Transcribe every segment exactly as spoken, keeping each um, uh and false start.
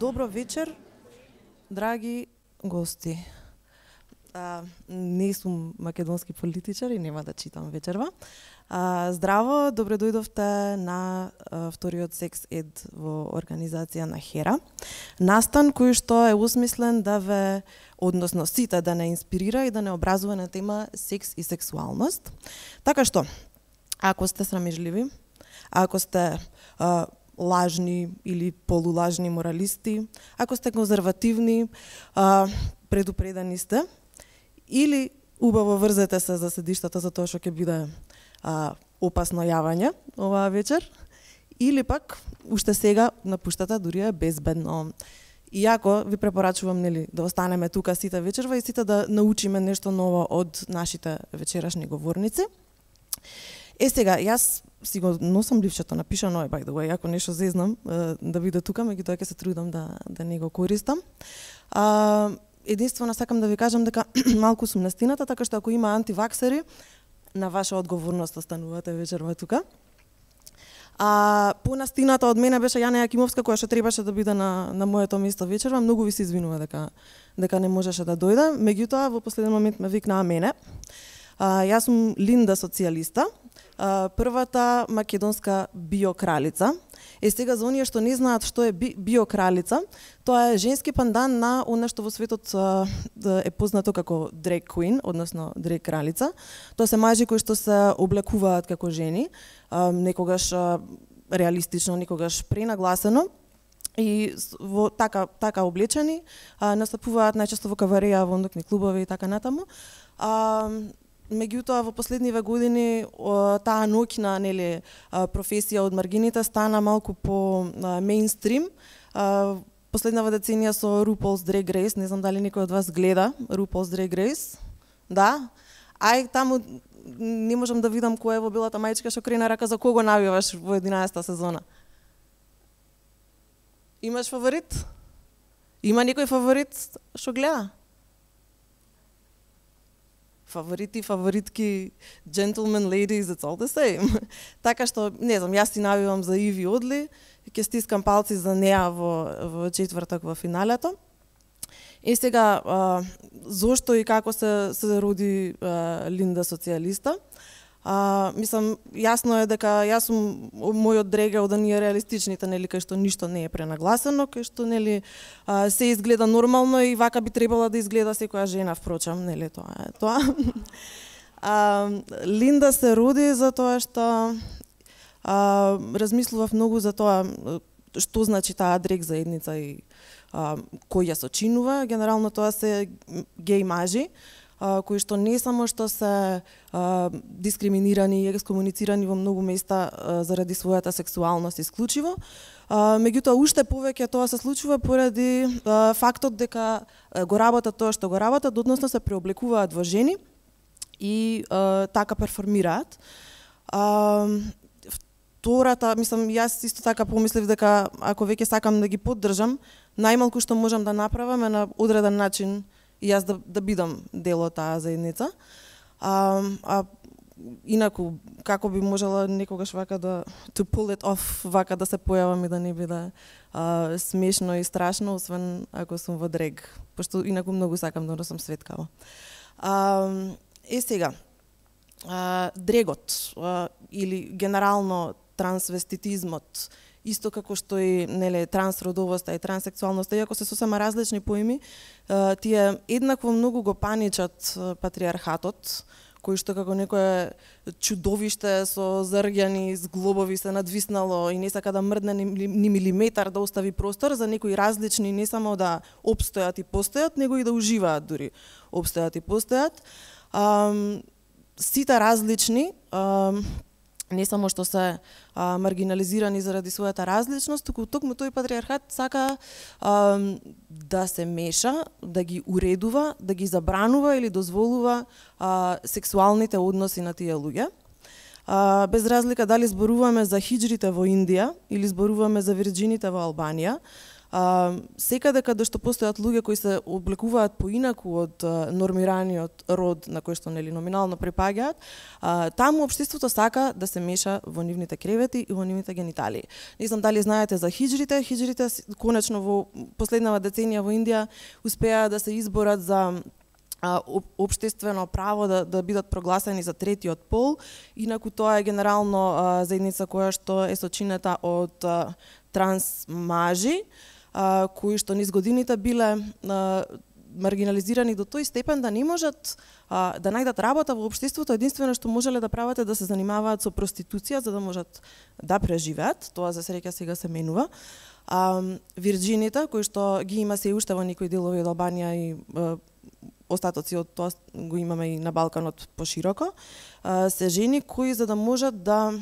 Добро вечер, драги гости. А, не сум македонски политичар и нема да читам вечерва. А, здраво, добре дојдовте на а, вториот секс ед во организација на Хера. Настан кој што е усмислен да ве, односно сите да не инспирира и да не образува на тема секс и сексуалност. Така што, ако сте срамежливи, ако сте а, лажни или полулажни моралисти, ако сте конзервативни, а, предупредени сте, или убаво врзете се за седиштата за тоа што ќе биде а, опасно јавање оваа вечер, или пак уште сега напуштате, дури е безбедно. Иако ви препорачувам нели да останеме тука сите вечерва и сите да научиме нешто ново од нашите вечерашни говорници. Е сега, јас си го носам ливчето напишано е, by the way, ако нешто зезнам да биде тука, меѓутоа ќе се трудам да, да не го користам. А, единствено сакам да ви кажам дека малку сум настината, така што ако има антиваксери, на ваша одговорност останувате вечерва тука. А понастината од мене беше Јана Јакимовска, која што требаше да биде на, на моето место вечерва. Многу ви се извинува дека, дека не можеше да дојде, меѓутоа во последен момент ме викнаа мене. А, јас сум Линда социјалиста, а, првата македонска биокралица. Е сега за оние што не знаат што е би, биокралица, тоа е женски пандан на она што во светот а, е познато како drag queen, односно drag кралица. Тоа се мажи кои што се облекуваат како жени, а, некогаш а, реалистично, некогаш пренагласено. И во така така облечени а, настапуваат најчесто во кавареја, во ноќни клубови и така натаму. А, меѓутоа во последниве години о, таа ноќна нели професија од маргините стана малку по мејнстрим. Последнава деценија со RuPaul's Drag Race, не знам дали некој од вас гледа RuPaul's Drag Race. Да? Ај таму не можам да видам која е во белата мајчка што крена рака, за кого навиваш во единаесета сезона. Имаш фаворит? Има некој фаворит што гледа? Фаворити, фаворитки, gentlemen, ladies, it's all the same. Така што, не знам, јас си навивам за Иви Одли, ќе стискам палци за неа во, во четвртак во финалето. И сега, а, зошто и како се, се роди а, Линда социјалиста? А, мислам, јасно е дека јас сум мојот дрег е од оние реалистичните, нели, кај што ништо не е пренагласено, кај што нели а, се изгледа нормално и вака би требала да изгледа секоја жена, впрочем, нели, тоа е тоа. а, Линда се роди за тоа што а, размислував многу за тоа што значи таа дрег заедница и а, кој ја сочинува. Генерално тоа се геј мажи, кои што не само што се а, дискриминирани и екскомуницирани во многу места а, заради својата сексуалност исклучиво, а, меѓутоа уште повеќе тоа се случува поради а, фактот дека а, го работат тоа што го работат, односно се преоблекуваат во жени и а, така перформираат. А, втората, мислам, јас исто така помислив дека ако веќе сакам да ги поддржам, најмалку што можам да направам е на одреден начин и јас да, да бидам дел од таа заедница. А, а инаку, како би можела некогаш вака да to pull it off, вака да се појавам и да не биде а, смешно и страшно, освен ако сум во дрег, пошто инаку многу сакам да носам светкава. А, е сега, а, дрегот а, или генерално трансвеститизмот, исто како што и неле трансродовоста и транссексуалноста, иако се сосема различни поими, тие еднакво многу го паничат патриархатот, кој што како некое чудовиште со зрѓани зглобови се надвиснало и не сака да мрдне ни, ни милиметар да остави простор за некои различни, не само да опстојат и постојат, него и да уживаат дури опстојат и постојат. Um, сите различни, um, не само што се а, маргинализирани заради својата различност, туку токму тој патриархат сака а, да се меша, да ги уредува, да ги забранува или дозволува а, сексуалните односи на тие луѓе. А, без разлика дали зборуваме за хиџрите во Индија или зборуваме за вирџините во Албанија, А, секаде каде што постојат луѓе кои се облекуваат поинаку од а, нормираниот род на кој што нели номинално припаѓаат, а, таму општеството сака да се меша во нивните кревети и во нивните гениталии. Не знам дали знаете за хиџрите, хиџрите конечно во последнава деценија во Индија успеа да се изборат за општествено право да, да бидат прогласени за третиот пол, инаку тоа е генерално а, заедница која што е сочинета од а, транс мажи, а, кои што низ годините биле а, маргинализирани до тој степен да не можат а, да најдат работа во општеството, единствено што можеле да прават е да се занимаваат со проституција за да можат да преживеат. Тоа за среќа сега се менува. А, вирџините, кои што ги има се уште во некои делови од Албанија и а, остатоци од тоа го имаме и на Балканот пошироко, се жени кои за да можат да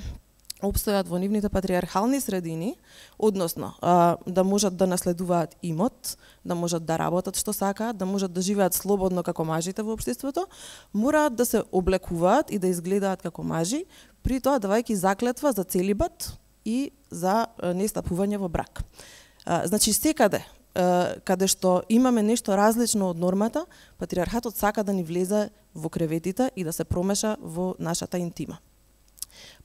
опстојат во нивните патриархални средини, односно да можат да наследуваат имот, да можат да работат што сакаат, да можат да живеат слободно како мажите во општеството, мораат да се облекуваат и да изгледаат како мажи, при тоа давајќи заклетва за целибат и за нестапување во брак. Значи секаде каде што имаме нешто различно од нормата, патриархатот сака да ни влезе во креветите и да се промеша во нашата интима.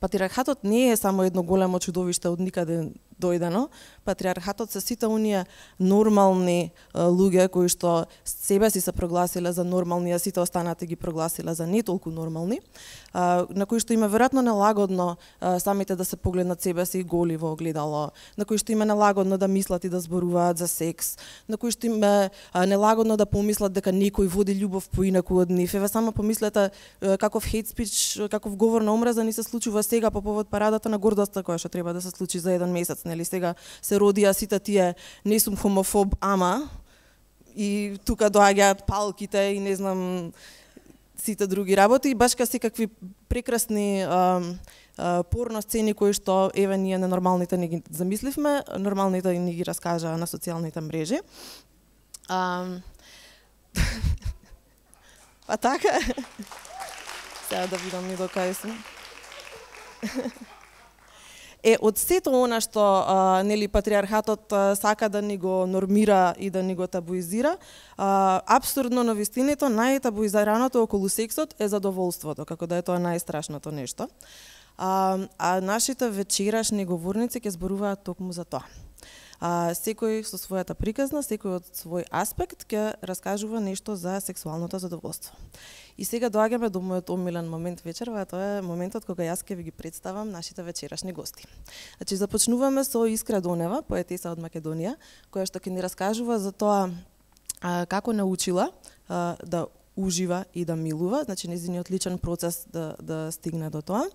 Патриархатот не е само едно големо чудовиште од никаде дојдено. Патриархатот се сите оние нормални а, луѓе кои што себе си се прогласиле за нормални, а сите останати ги прогласиле за не толку нормални, а, на кои што има веројатно нелагодно а, самите да се погледнат себе си голи во огледало, на кои што има нелагодно да мислат и да зборуваат за секс, на кои што има а, нелагодно да помислат дека некој води љубов поинаку од нив. Еве само помислете а, каков хейт спич, каков говор на омраза ни се случува сега по повод парадата на гордоста која што треба да се случи за еден месец. Нели сега се родија сите тие не сум хомофоб, ама и тука доаѓаат палките и не знам сите други работи, и баш ка секакви прекрасни а, а, порно сцени кои што еве ние ненормалните не ги замисливме, нормалните ни ги раскажаа на социјалните мрежи. А, па така сега да видам ни до кај сум. Е, од сето она што а, нели патриархатот а, сака да ни го нормира и да ни го табуизира, а, апсурдно на вистинето најтабуизираното околу сексот е задоволството, како да е тоа најстрашното нешто. А, а нашите вечерашни говорници ќе зборуваат токму за тоа. А, секој со својата приказна, секој од свој аспект ќе раскажува нешто за сексуалното задоволство. И сега доаѓаме до мојот омилен момент вечерва, а тоа е моментот кога јас ќе ви ги представам нашите вечерашни гости. Значи започнуваме со Искра Донева, поетеса од Македонија, која што ќе ни раскажува за тоа а, како научила а, да ужива и да милува, значи нејзиниот личен процес да, да стигне до тоа.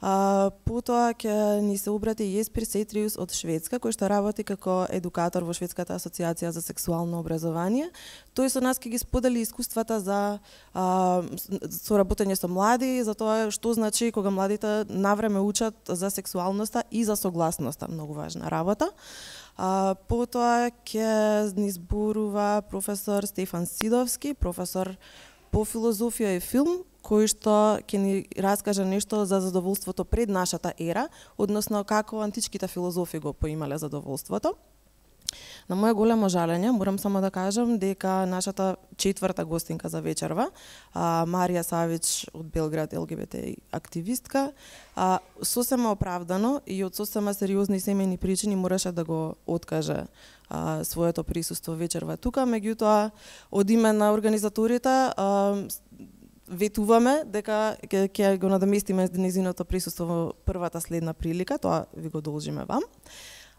А, потоа ќе ни се обрати Јеспир Сетриус од Шведска, кој што работи како едукатор во Шведската асоциација за сексуално образование. Тој со нас ќе ги сподели искуствата за а, со работење со млади, за тоа што значи кога младите навреме учат за сексуалноста и за согласноста, многу важна работа. А, потоа ќе ни зборува професор Стефан Сидовски, професор по филозофија и филм, кој што ќе ни раскаже нешто за задоволството пред нашата ера, односно како античките филозофи го поимале задоволството. На моје големо жалење, морам само да кажам дека нашата четврта гостинка за вечерва, а, Марија Савич од Белград, Ел Ге Бе Те активистка, а, сосема оправдано и од сосема сериозни семејни причини мораше да го откаже а, своето присуство вечерва тука, меѓутоа од име на организаторите а, ветуваме дека ќе ќе го надоместиме незиното присуство во првата следна прилика, тоа ви го должиме вам.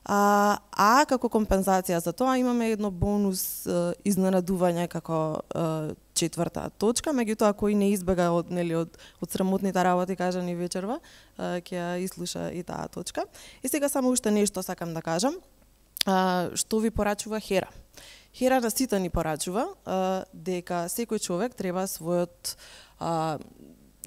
А, а како компензација за тоа имаме едно бонус е, изненадување како е, четврта точка, меѓутоа кој не избега од нели од од срамотните работи кажани вечерва, е, ќе ја ислуша и таа точка. И сега само уште нешто сакам да кажам, а, што ви порачува Хера. Хера на сите ни порачува а, дека секој човек треба својот а,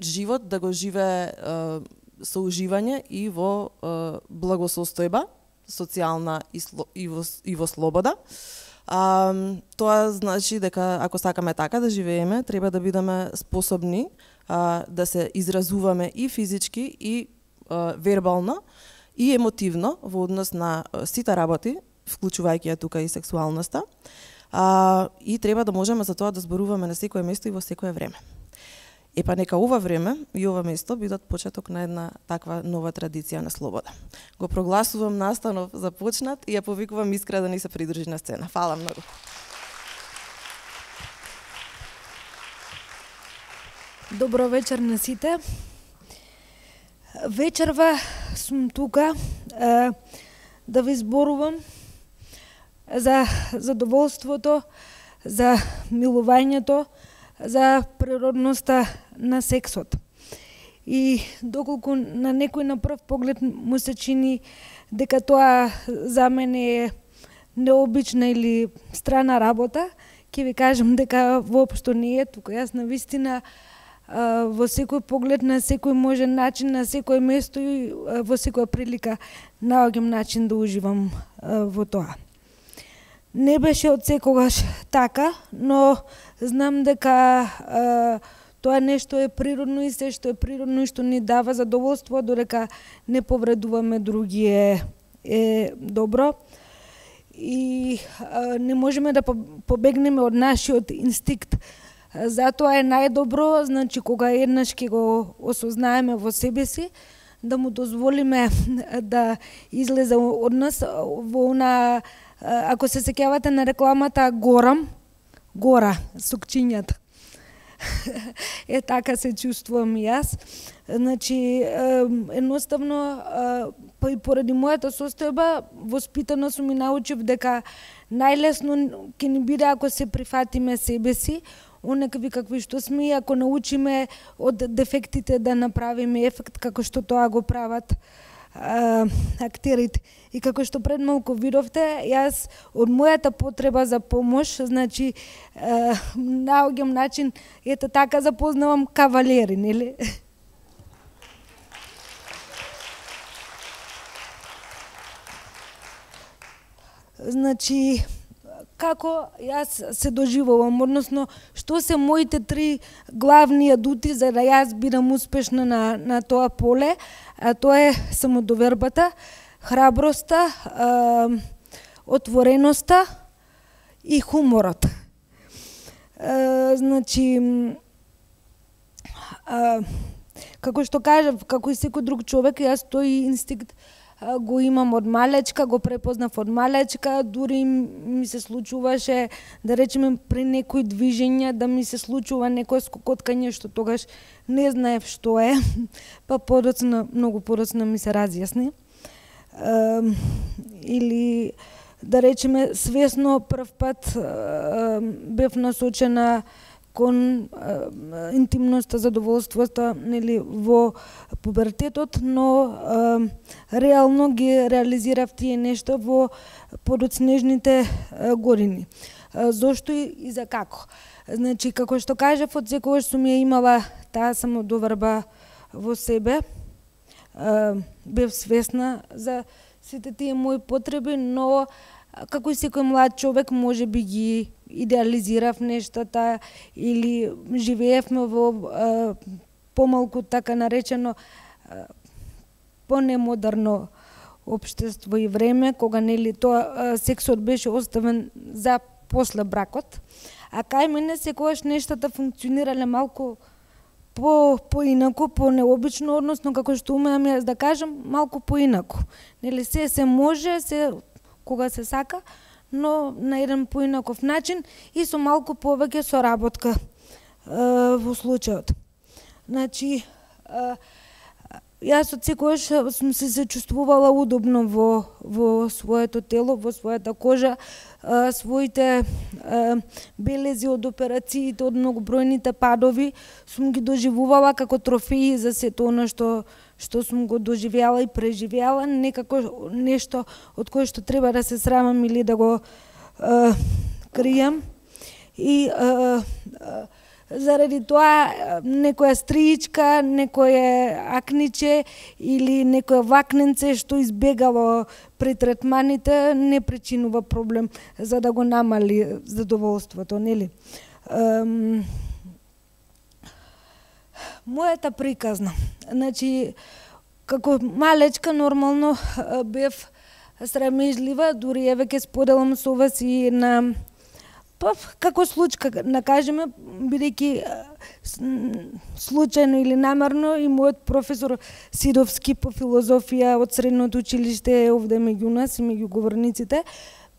живот да го живее а, со уживање и во а, благосостојба социјална и, сло, и, во, и во слобода. А, тоа значи дека ако сакаме така да живееме, треба да бидеме способни а, да се изразуваме и физички и а, вербално и емотивно во однос на сите работи вклучувајќи ја тука и сексуалноста. А, и треба да можеме за тоа да зборуваме на секое место и во секое време. Е па нека ова време и ова место бидат почеток на една таква нова традиција на слобода. Го прогласувам настанов започнат и ја повикувам Искра да ни се придружи на сцена. Фала многу. Добро вечер на сите. Вечерва сум тука е, да ви зборувам за задоволството, за милувањето, за природноста на сексот. И доколку на некој на прв поглед му се чини дека тоа за мене е необична или страна работа, ќе ви кажам дека воопшто не е. Тука јас навистина во секој поглед, на секој можен начин, на секој место и во секоја прилика наоѓам начин да уживам во тоа. Не беше од секогаш така, но знам дека а, тоа нешто е природно и се што е природно и што ни дава задоволство, додека не повредуваме други е, е добро. И а, не можеме да побегнеме од нашиот инстинкт. Затоа е најдобро, значи кога еднаш ќе го осознаеме во себе си, да му дозволиме да излезе од нас во она. Ако се сеќавате на рекламата Горам, гора, сукчињата. Е, така се чувствувам и јас. Значи, едноставно, па и поради мојата состојба, воспитана сум и научив дека најлесно ќе ни биде ако се прифатиме себе си, онакви какви што сме, и ако научиме од дефектите да направиме ефект, како што тоа го прават а, актерите. И како што пред малку видовте, јас од мојата потреба за помош, значи, а, наоѓам начин, ето така запознавам кавалери, нели? Значи, како јас се доживувам, односно, што се моите три главни адути за да јас бидам успешна на, на тоа поле, а тоа е самодовербата, храброста, а, отвореноста и хуморот. А, значи, а, како што кажав, како и секој друг човек, јас тој инстинкт го имам од малечка, го препознав од малечка, дури ми се случуваше, да речеме, при некои движења, да ми се случува некој скокоткање, што тогаш не знаев што е, па подоцна, многу подоцна ми се разјасни. Uh, или, да речеме, свесно прв пат uh, бев насочена кон uh, интимноста, задоволството, нели, во пубертетот, но uh, реално ги реализирав тие нешта во подоцнежните uh, години. Uh, зошто и, и за како? Значи, како што кажав, од секогаш сум ја имала таа самодоверба во себе. Uh, бев свесна за сите тие мои потреби, но како и секој млад човек може би ги идеализирав нештата или живеевме во uh, помалку така наречено uh, понемодерно општество и време, кога нели тоа uh, сексот беше оставен за после бракот, а кај мене секогаш нештата функционирале малку по поинаку, по необично, односно како што умеам јас да кажам, малку поинаку. Нели се се може, се кога се сака, но на еден поинаков начин и со малку повеќе соработка е, во случајот. Значи, е, јас од секогаш сум се се чувствувала удобно во во своето тело, во својата кожа, а, своите а, белези од операциите, од многобројните падови сум ги доживувала како трофеи за сето она што што сум го доживеала и преживеала, некако нешто од кое што треба да се срамам или да го а, кријам. И а, а, заради тоа некоја стриичка, некое акниче или некое вакненце што избегало при третманите не причинува проблем за да го намали задоволството, нели? Ем, мојата приказна. Значи, како малечка нормално бев срамежлива, дури еве ќе споделам со вас и на па како случка, да кажеме, бидејќи случајно или намерно и мојот професор Сидовски по филозофија од средното училиште е овде меѓу нас и меѓу говорниците,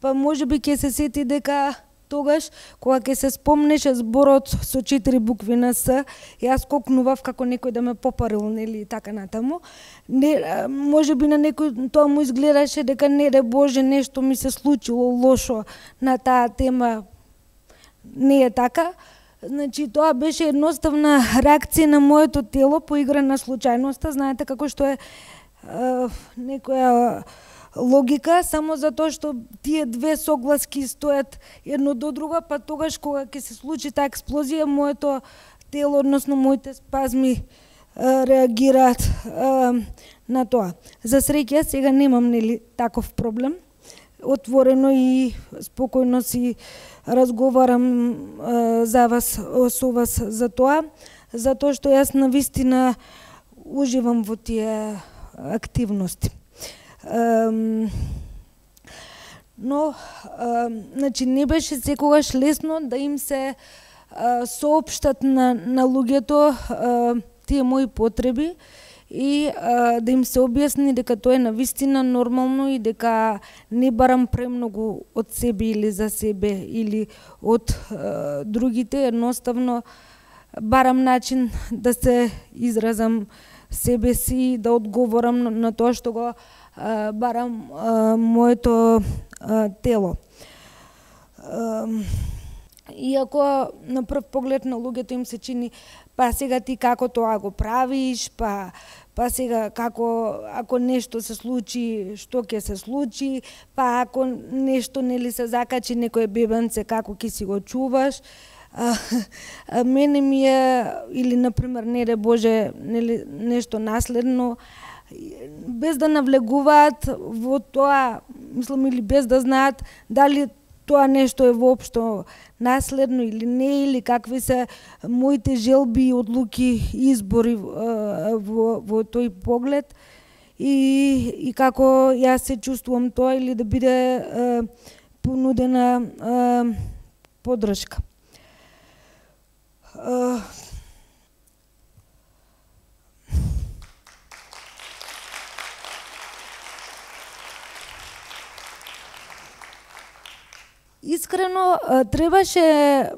па можеби ќе се сети дека тогаш, кога ќе се спомнеше зборот со четири букви на С, јас скокнував како некој да ме попарил, нели, така натаму. Не, можеби на некој тоа му изгледаше дека не де Боже, нешто ми се случило лошо на таа тема. Не е така. Значи, тоа беше едноставна реакција на моето тело по игра на случајноста. Знаете како што е, е некоја логика, само затоа што тие две согласки стоят едно до друго, па тогаш кога ќе се случи таа експлозија, моето тело, односно моите спазми е, реагираат е, на тоа. За среќа сега немам, нели, таков проблем. Отворено и спокојно си разговарам е, за вас, со вас за тоа, затоа што јас навистина уживам во тие активности. Um, но, uh, значи, не беше секогаш лесно да им се uh, соопштат на, на луѓето uh, тие мои потреби и uh, да им се објасни дека тоа е навистина нормално и дека не барам премногу од себе или за себе или од uh, другите, едноставно барам начин да се изразам себе си, да одговорам на, на тоа што го Uh, барам uh, моето uh, тело. Uh, иако на прв поглед на луѓето им се чини, па сега ти како тоа го правиш, па па сега како ако нешто се случи, што ќе се случи, па ако нешто нели се закачи некој бебенце, како ќе си го чуваш. А, а мене ми е, или например, не де Боже, нели нешто наследно, без да навлегуваат во тоа, мислам, или без да знаат дали тоа нешто е воопшто наследно или не, или какви се моите желби, одлуки, избори во, во тој поглед и, и како јас се чувствувам тоа, или да биде е, понудена е, поддршка. Е, Искрено, требаше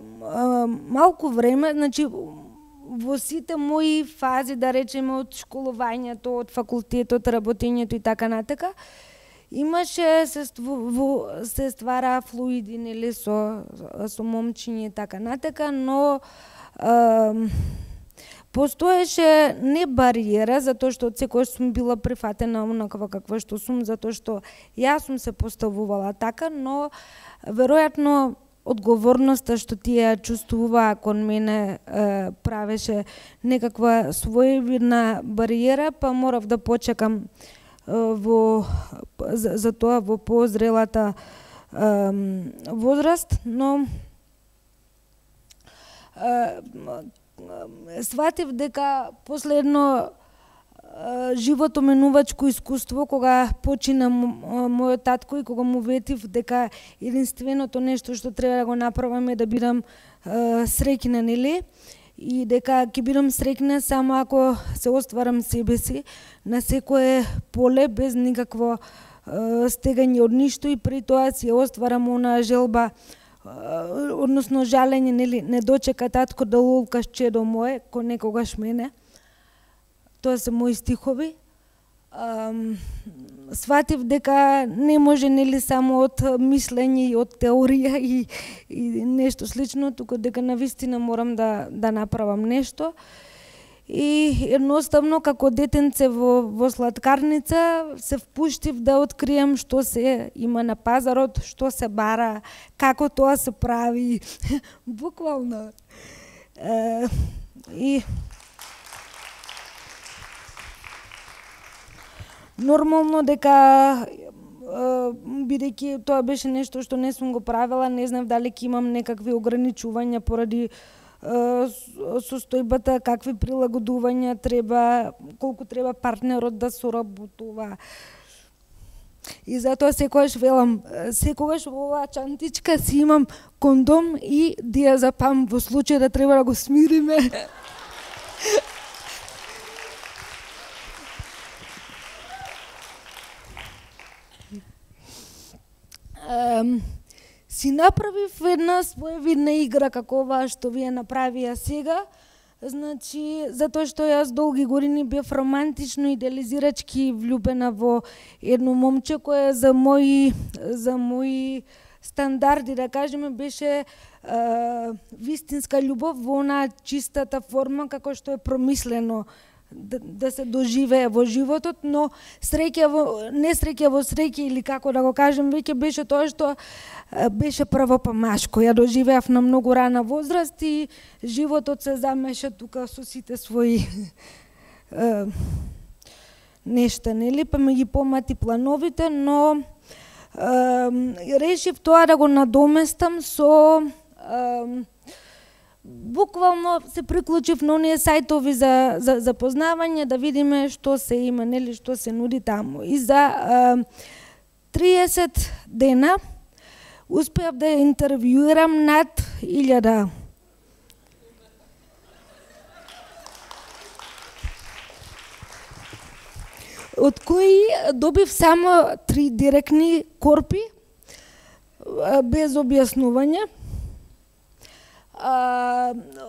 малку време, значи во сите мои фази, да речеме, од школувањето, од факултетот, работењето и така натака, имаше се, ству, се ствара флуиди, нели, со, со момчиња и така натака, но е, постоеше не бариера, затоа што од секојаш сум била прифатена онаква каква што сум, затоа што јас сум се поставувала така, но веројатно одговорноста што тие чувствуваа кон мене е, правеше некаква своевидна бариера, па морав да почекам е, во, за, за тоа во позрелата е, возраст, но е, сватив дека последно животоменувачко искуство, кога почина мојот татко и кога му ветив дека единственото нешто што треба да го направам е да бидам е, среќна, нели? И дека ќе бидам среќна само ако се остварам себе си на секое поле без никакво е, стегање од ништо и при тоа си остварам онаа желба, е, односно жалење, нели, не дочека татко да лулкаш чедо мое, ко некогаш мене. Тоа се мои стихови. Um, сватив дека не може, нели, само од мислење и од теорија и, и нешто слично, туку дека навистина морам да, да направам нешто. И едноставно, како детенце во, во сладкарница, се впуштив да открием што се има на пазарот, што се бара, како тоа се прави. Буквално. Uh, и нормално дека, бидејќи тоа беше нешто што не сум го правила, не знам дали ќе имам некакви ограничувања поради состојбата, какви прилагодувања треба, колку треба партнерот да соработува. И затоа секогаш велам, секогаш во оваа чантичка си имам кондом и диазепам во случај да треба да го смириме. Um, си направив една своевидна игра како оваа што вие направија сега. Значи, затоа што јас долги години бев романтично идеализирачки влюбена во едно момче кое за мои за мои стандарди, да кажеме, беше а, вистинска љубов во онаа чистата форма како што е промислено да, да се доживее во животот, но среќа во несреќа во среќа или како да го кажем, веќе беше тоа што беше прво па машко. Ја доживеав на многу рана возраст и животот се замеша тука со сите своји е, нешта, нели, па ме ги помати плановите, но е, решив тоа да го надоместам со е, буквално се приклучив на оние сајтови за, за запознавање, да видиме што се има, нели, што се нуди таму. И за е, триесет дена успеав да интервјуирам над илјада од кои добив само три директни корпи без објаснување.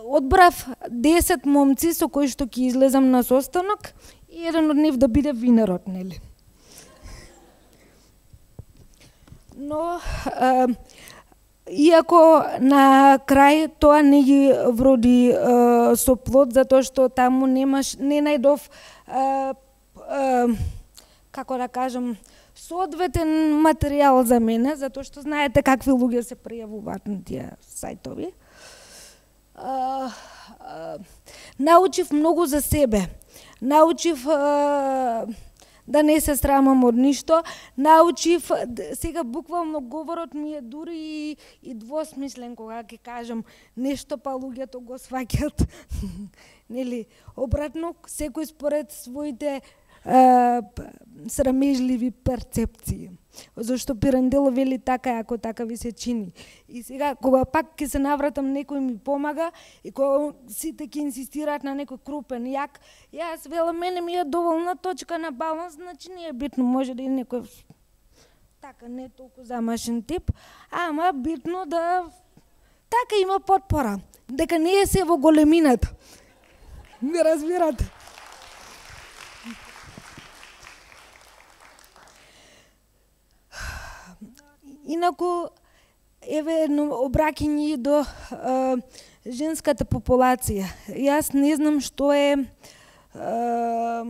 Одбрав десет момци со кои што ќе излезам на состанок и еден од нив да биде винарот, нели. Но а, иако на крај тоа не ги вроди а, со плод, затоа што таму немаш, не најдов а, а, како да кажам, соодветен материјал за мене, затоа што знаете какви луѓе се пријавуваат на тие сајтови. А, а, научив многу за себе. Научив а, да не се срамам од ништо. Научив, сега буквално говорот ми е дури и, и двосмислен кога ќе кажам нешто, па луѓето го сваќат. Нели, обратно, секој според своите а, срамежливи перцепции. Зашто Пирандело вели така, ако така ви се чини. И сега, кога пак ќе се навратам, некој ми помага и кога сите ќе инсистираат на некој крупен јак, јас велам, мене ми е доволна точка на баланс, значи не е битно, може да и некој така не толку замашен тип, ама битно да така има потпора, дека не е се во големината. Не разбирате? Инаку, еве едно обраќање до а, женската популација. Јас не знам што е... А,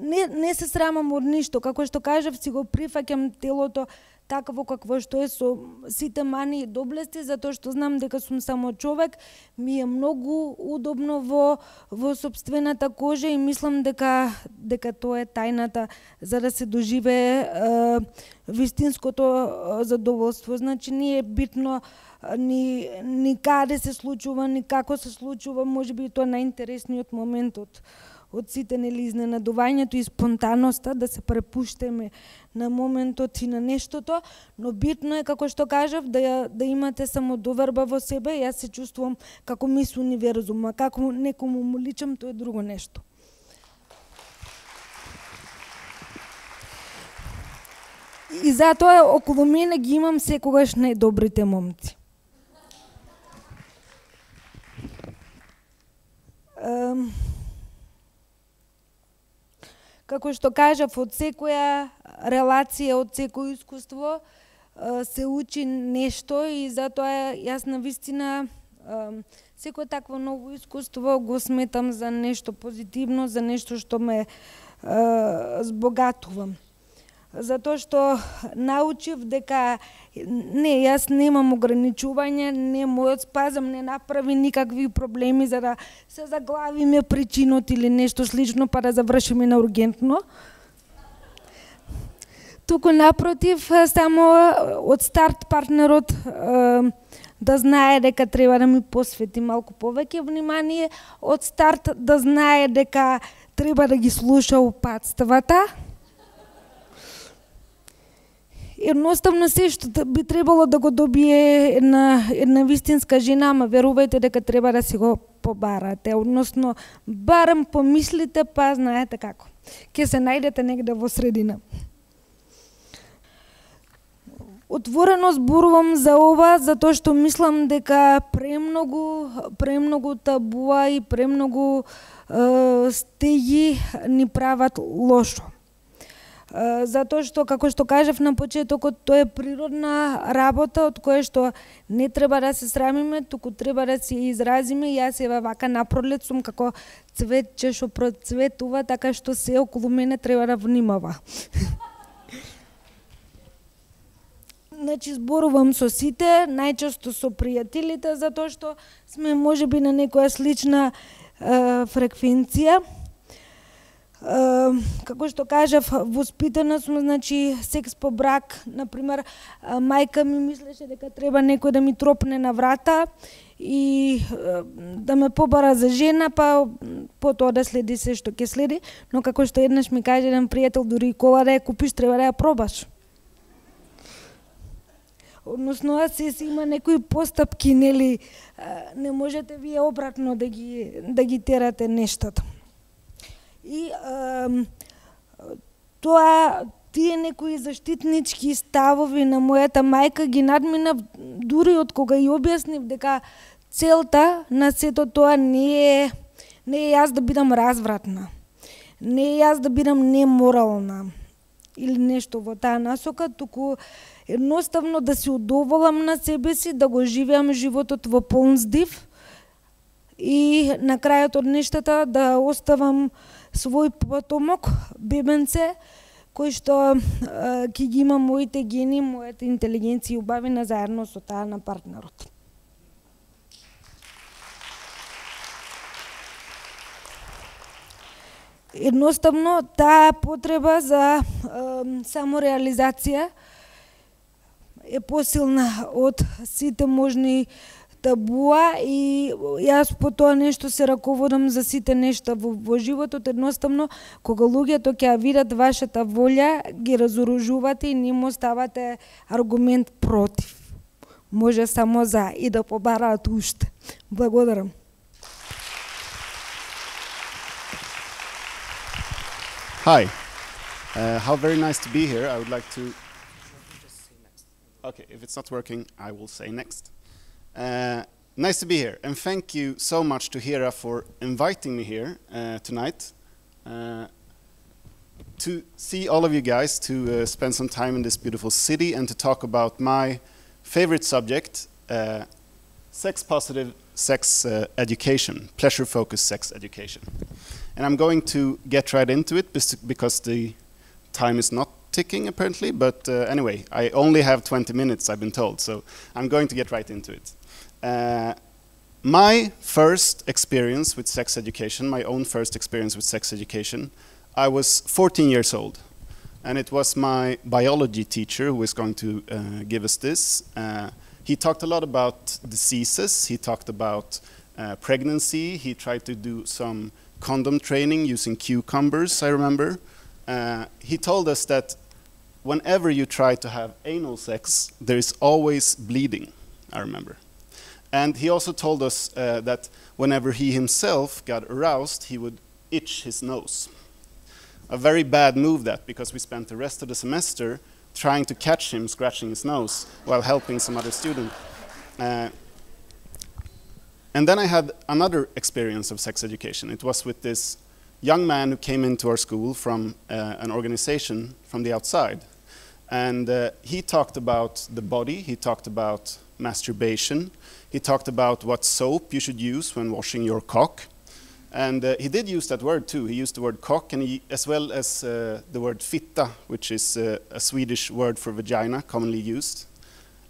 не, не се срамам од ништо. Како што кажав, си го прифаќам телото такво какво што е, со сите мани и доблести, затоа што знам дека сум само човек, ми е многу удобно во, во собствената кожа и мислам дека, дека тоа е тајната за да се доживее е, вистинското задоволство. Значи не е битно ни, ни каде се случува, ни како се случува, можеби тоа најинтересниот момент од од сите, нели, изненадувањето и спонтаноста, да се препуштеме на моментот и на нештото, но битно е, како што кажав, да, да имате самодоверба во себе. Јас се чувствувам како мис универзума, како некому му личам, тоа е друго нешто. И затоа околу мене ги имам секогаш најдобрите момци. Um, Како што кажав, од секоја релација, од секој искуство се учи нешто и затоа јас на вистина секој такво ново искуство го сметам за нешто позитивно, за нешто што ме збогатувам. Затоа што научив дека не, јас немам ограничување, не мојот спазам не направи никакви проблеми за да се заглавиме причинот или нешто слично па да завршиме на ургентно. Туку напротив, само од старт партнерот да знае дека треба да ми посвети малку повеќе внимание, од старт да знае дека треба да ги слуша упатствата. едноставно се што би требало да го добие една, една вистинска жена, ама верувајте дека треба да си го побарате, односно барем помислите, па знаете како. Ќе се најдете негде во средина. Отворено зборувам за ова, затоа што мислам дека премногу, премногу табуа и премногу е, стеги ни прават лошо. Е, затоа што, како што кажав на почетокот, тоа е природна работа од која што не треба да се срамиме, туку треба да се изразиме. Јас ева вака напролет сум како цветче што процветува, така што се околу мене треба да внимава. Значи, зборувам со сите, најчесто со пријателите, затоа што сме можеби на некоја слична е, фреквенција. Е, како што кажав, воспитана сум, значи, секс по брак. Например, мајка ми мислеше дека треба некој да ми тропне на врата и е, да ме побара за жена, па потоа да следи се што ќе следи. Но како што еднаш ми каже еден пријател, дури и кола да ја купиш, треба да ја пробаш. Односно, се си има некои постапки, нели, не можете вие обратно да ги, да ги терате нештата. И е, тоа, тие некои заштитнички ставови на мојата мајка ги надминав дури од кога ја објаснив дека целта на сето тоа не е, не е јас да бидам развратна, не е јас да бидам неморална или нешто во таа насока, туку едноставно да се удоволам на себе си, да го живеам животот во полн здив и на крајот од нештата да оставам свој потомок, бебенце, кој што ќе ги има моите гени, мојата интелигенција и убавина заедно со таа на партнерот. Едноставно, таа потреба за е, самореализација е посилна од сите можни табуа и јас по тоа нешто се раководам за сите нешта во, во животот. Едноставно, кога луѓето ќе видат вашата волја, ги разоружувате и не му ставате аргумент против. Може само за и да побараат уште. Благодарам. Hi, uh, how very nice to be here. I would like to... Okay, if it's not working, I will say next. Uh, nice to be here, and thank you so much to Hera for inviting me here uh, tonight. Uh, to see all of you guys, to uh, spend some time in this beautiful city and to talk about my favorite subject, uh, sex-positive sex uh, education, pleasure-focused sex education. And I'm going to get right into it because the time is not ticking apparently, but uh, anyway, I only have twenty minutes, I've been told, so I'm going to get right into it. Uh, my first experience with sex education, my own first experience with sex education, I was fourteen years old, and it was my biology teacher who was going to uh, give us this. Uh, he talked a lot about diseases, he talked about uh, pregnancy, he tried to do some condom training using cucumbers, I remember. Uh, he told us that whenever you try to have anal sex, there is always bleeding, I remember. And he also told us uh, that whenever he himself got aroused, he would itch his nose. A very bad move that, because we spent the rest of the semester trying to catch him scratching his nose while helping some other student. Uh, and then I had another experience of sex education. It was with this young man who came into our school from uh, an organization from the outside. And uh, he talked about the body, he talked about masturbation, he talked about what soap you should use when washing your cock. And uh, he did use that word too. He used the word cock, and he, as well as uh, the word fitta, which is uh, a Swedish word for vagina, commonly used.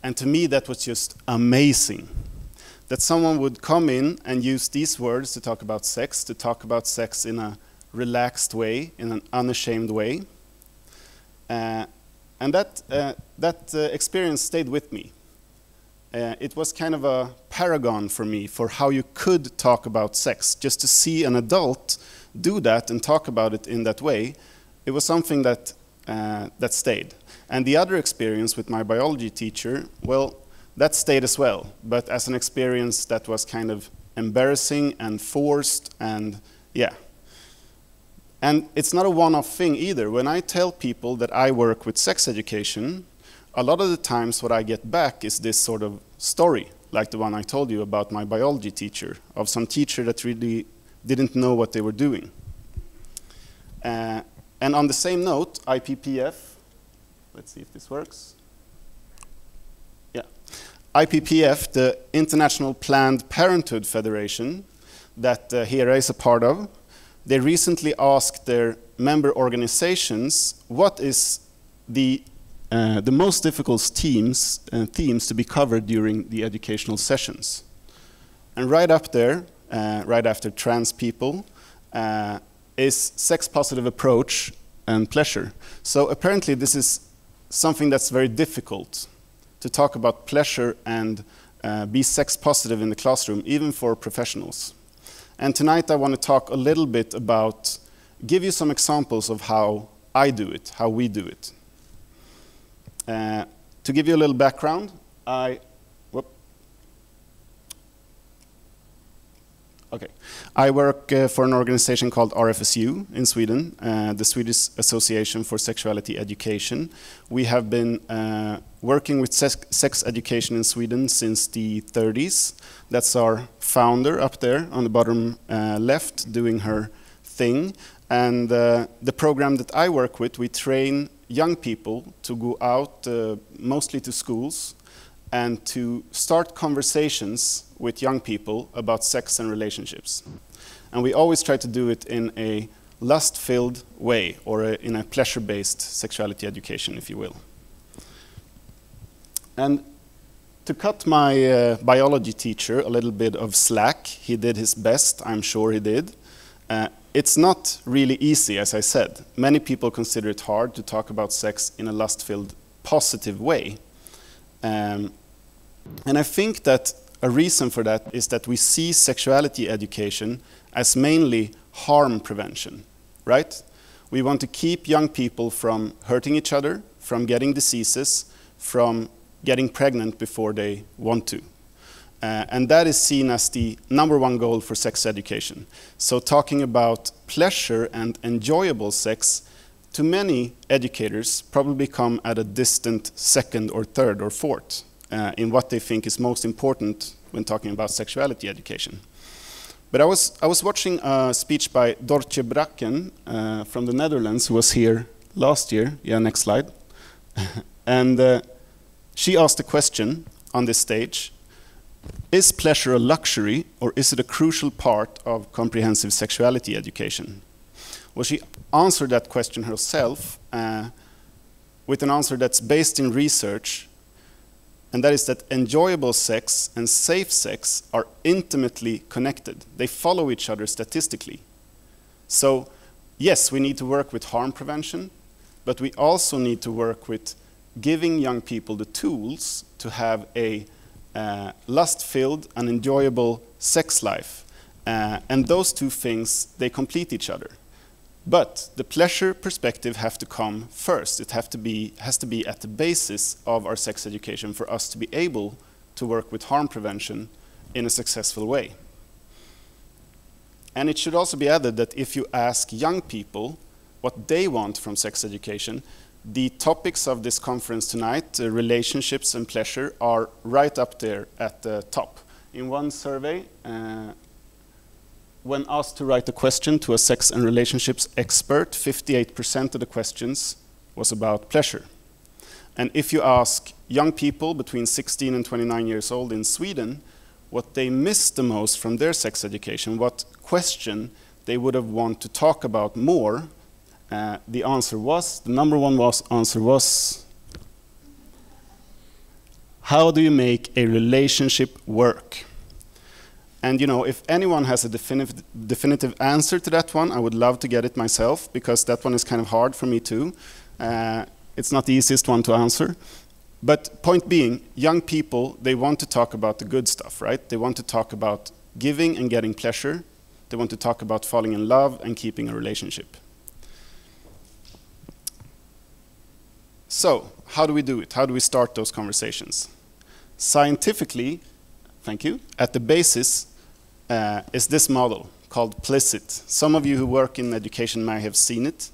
And to me that was just amazing. That someone would come in and use these words to talk about sex, to talk about sex in a relaxed way, in an unashamed way. Uh, and that, uh, that uh, experience stayed with me. Uh, it was kind of a paragon for me for how you could talk about sex. Just to see an adult do that and talk about it in that way, it was something that uh, that stayed. And the other experience with my biology teacher, well, that stayed as well, but as an experience that was kind of embarrassing and forced, and yeah. And it's not a one-off thing either. When I tell people that I work with sex education, a lot of the times what I get back is this sort of story, like the one I told you about my biology teacher, of some teacher that really didn't know what they were doing. Uh, and on the same note, I P P F, let's see if this works. Yeah. I P P F, the International Planned Parenthood Federation, that uh, Hera is a part of, they recently asked their member organizations what is the, uh, the most difficult themes, uh, themes to be covered during the educational sessions. And right up there, uh, right after trans people, uh, is sex-positive approach and pleasure. So apparently this is something that's very difficult to talk about pleasure and uh, be sex-positive in the classroom, even for professionals. And tonight I want to talk a little bit about, give you some examples of how I do it, how we do it. Uh, to give you a little background, I Okay. I work uh, for an organization called R F S U in Sweden, uh, the Swedish Association for Sexuality Education. We have been uh, working with sex, sex education in Sweden since the thirties. That's our founder up there on the bottom uh, left doing her thing. And uh, the program that I work with, we train young people to go out uh, mostly to schools and to start conversations with young people about sex and relationships. And we always try to do it in a lust-filled way, or a, in a pleasure-based sexuality education, if you will. And to cut my uh, biology teacher a little bit of slack, he did his best, I'm sure he did. Uh, it's not really easy, as I said. Many people consider it hard to talk about sex in a lust-filled, positive way. Um, and I think that a reason for that is that we see sexuality education as mainly harm prevention, right? We want to keep young people from hurting each other, from getting diseases, from getting pregnant before they want to. Uh, and that is seen as the number one goal for sex education. So talking about pleasure and enjoyable sex, to many educators probably come at a distant second or third or fourth uh, in what they think is most important when talking about sexuality education. But I was, I was watching a speech by Dortje Bracken uh, from the Netherlands, who was here last year. Yeah, next slide. And uh, she asked a question on this stage: is pleasure a luxury, or is it a crucial part of comprehensive sexuality education? Well, she answered that question herself uh, with an answer that's based in research, and that is that enjoyable sex and safe sex are intimately connected. They follow each other statistically. So, yes, we need to work with harm prevention, but we also need to work with giving young people the tools to have a uh, lust-filled and enjoyable sex life. Uh, and those two things, they complete each other. But the pleasure perspective have to come first. It have to be, has to be at the basis of our sex education for us to be able to work with harm prevention in a successful way. And it should also be added that if you ask young people what they want from sex education, the topics of this conference tonight, uh, relationships and pleasure, are right up there at the top. In one survey, uh, when asked to write a question to a sex and relationships expert, fifty-eight percent of the questions was about pleasure. And if you ask young people between sixteen and twenty-nine years old in Sweden what they miss the most from their sex education, what question they would have wanted to talk about more, uh, the answer was, the number one was, answer was, how do you make a relationship work? And you know, if anyone has a definitive, definitive answer to that one, I would love to get it myself, because that one is kind of hard for me too. Uh, it's not the easiest one to answer. But point being, young people, they want to talk about the good stuff, right? They want to talk about giving and getting pleasure. They want to talk about falling in love and keeping a relationship. So, how do we do it? How do we start those conversations? Scientifically, thank you, at the basis uh, is this model called PLISSIT. Some of you who work in education may have seen it.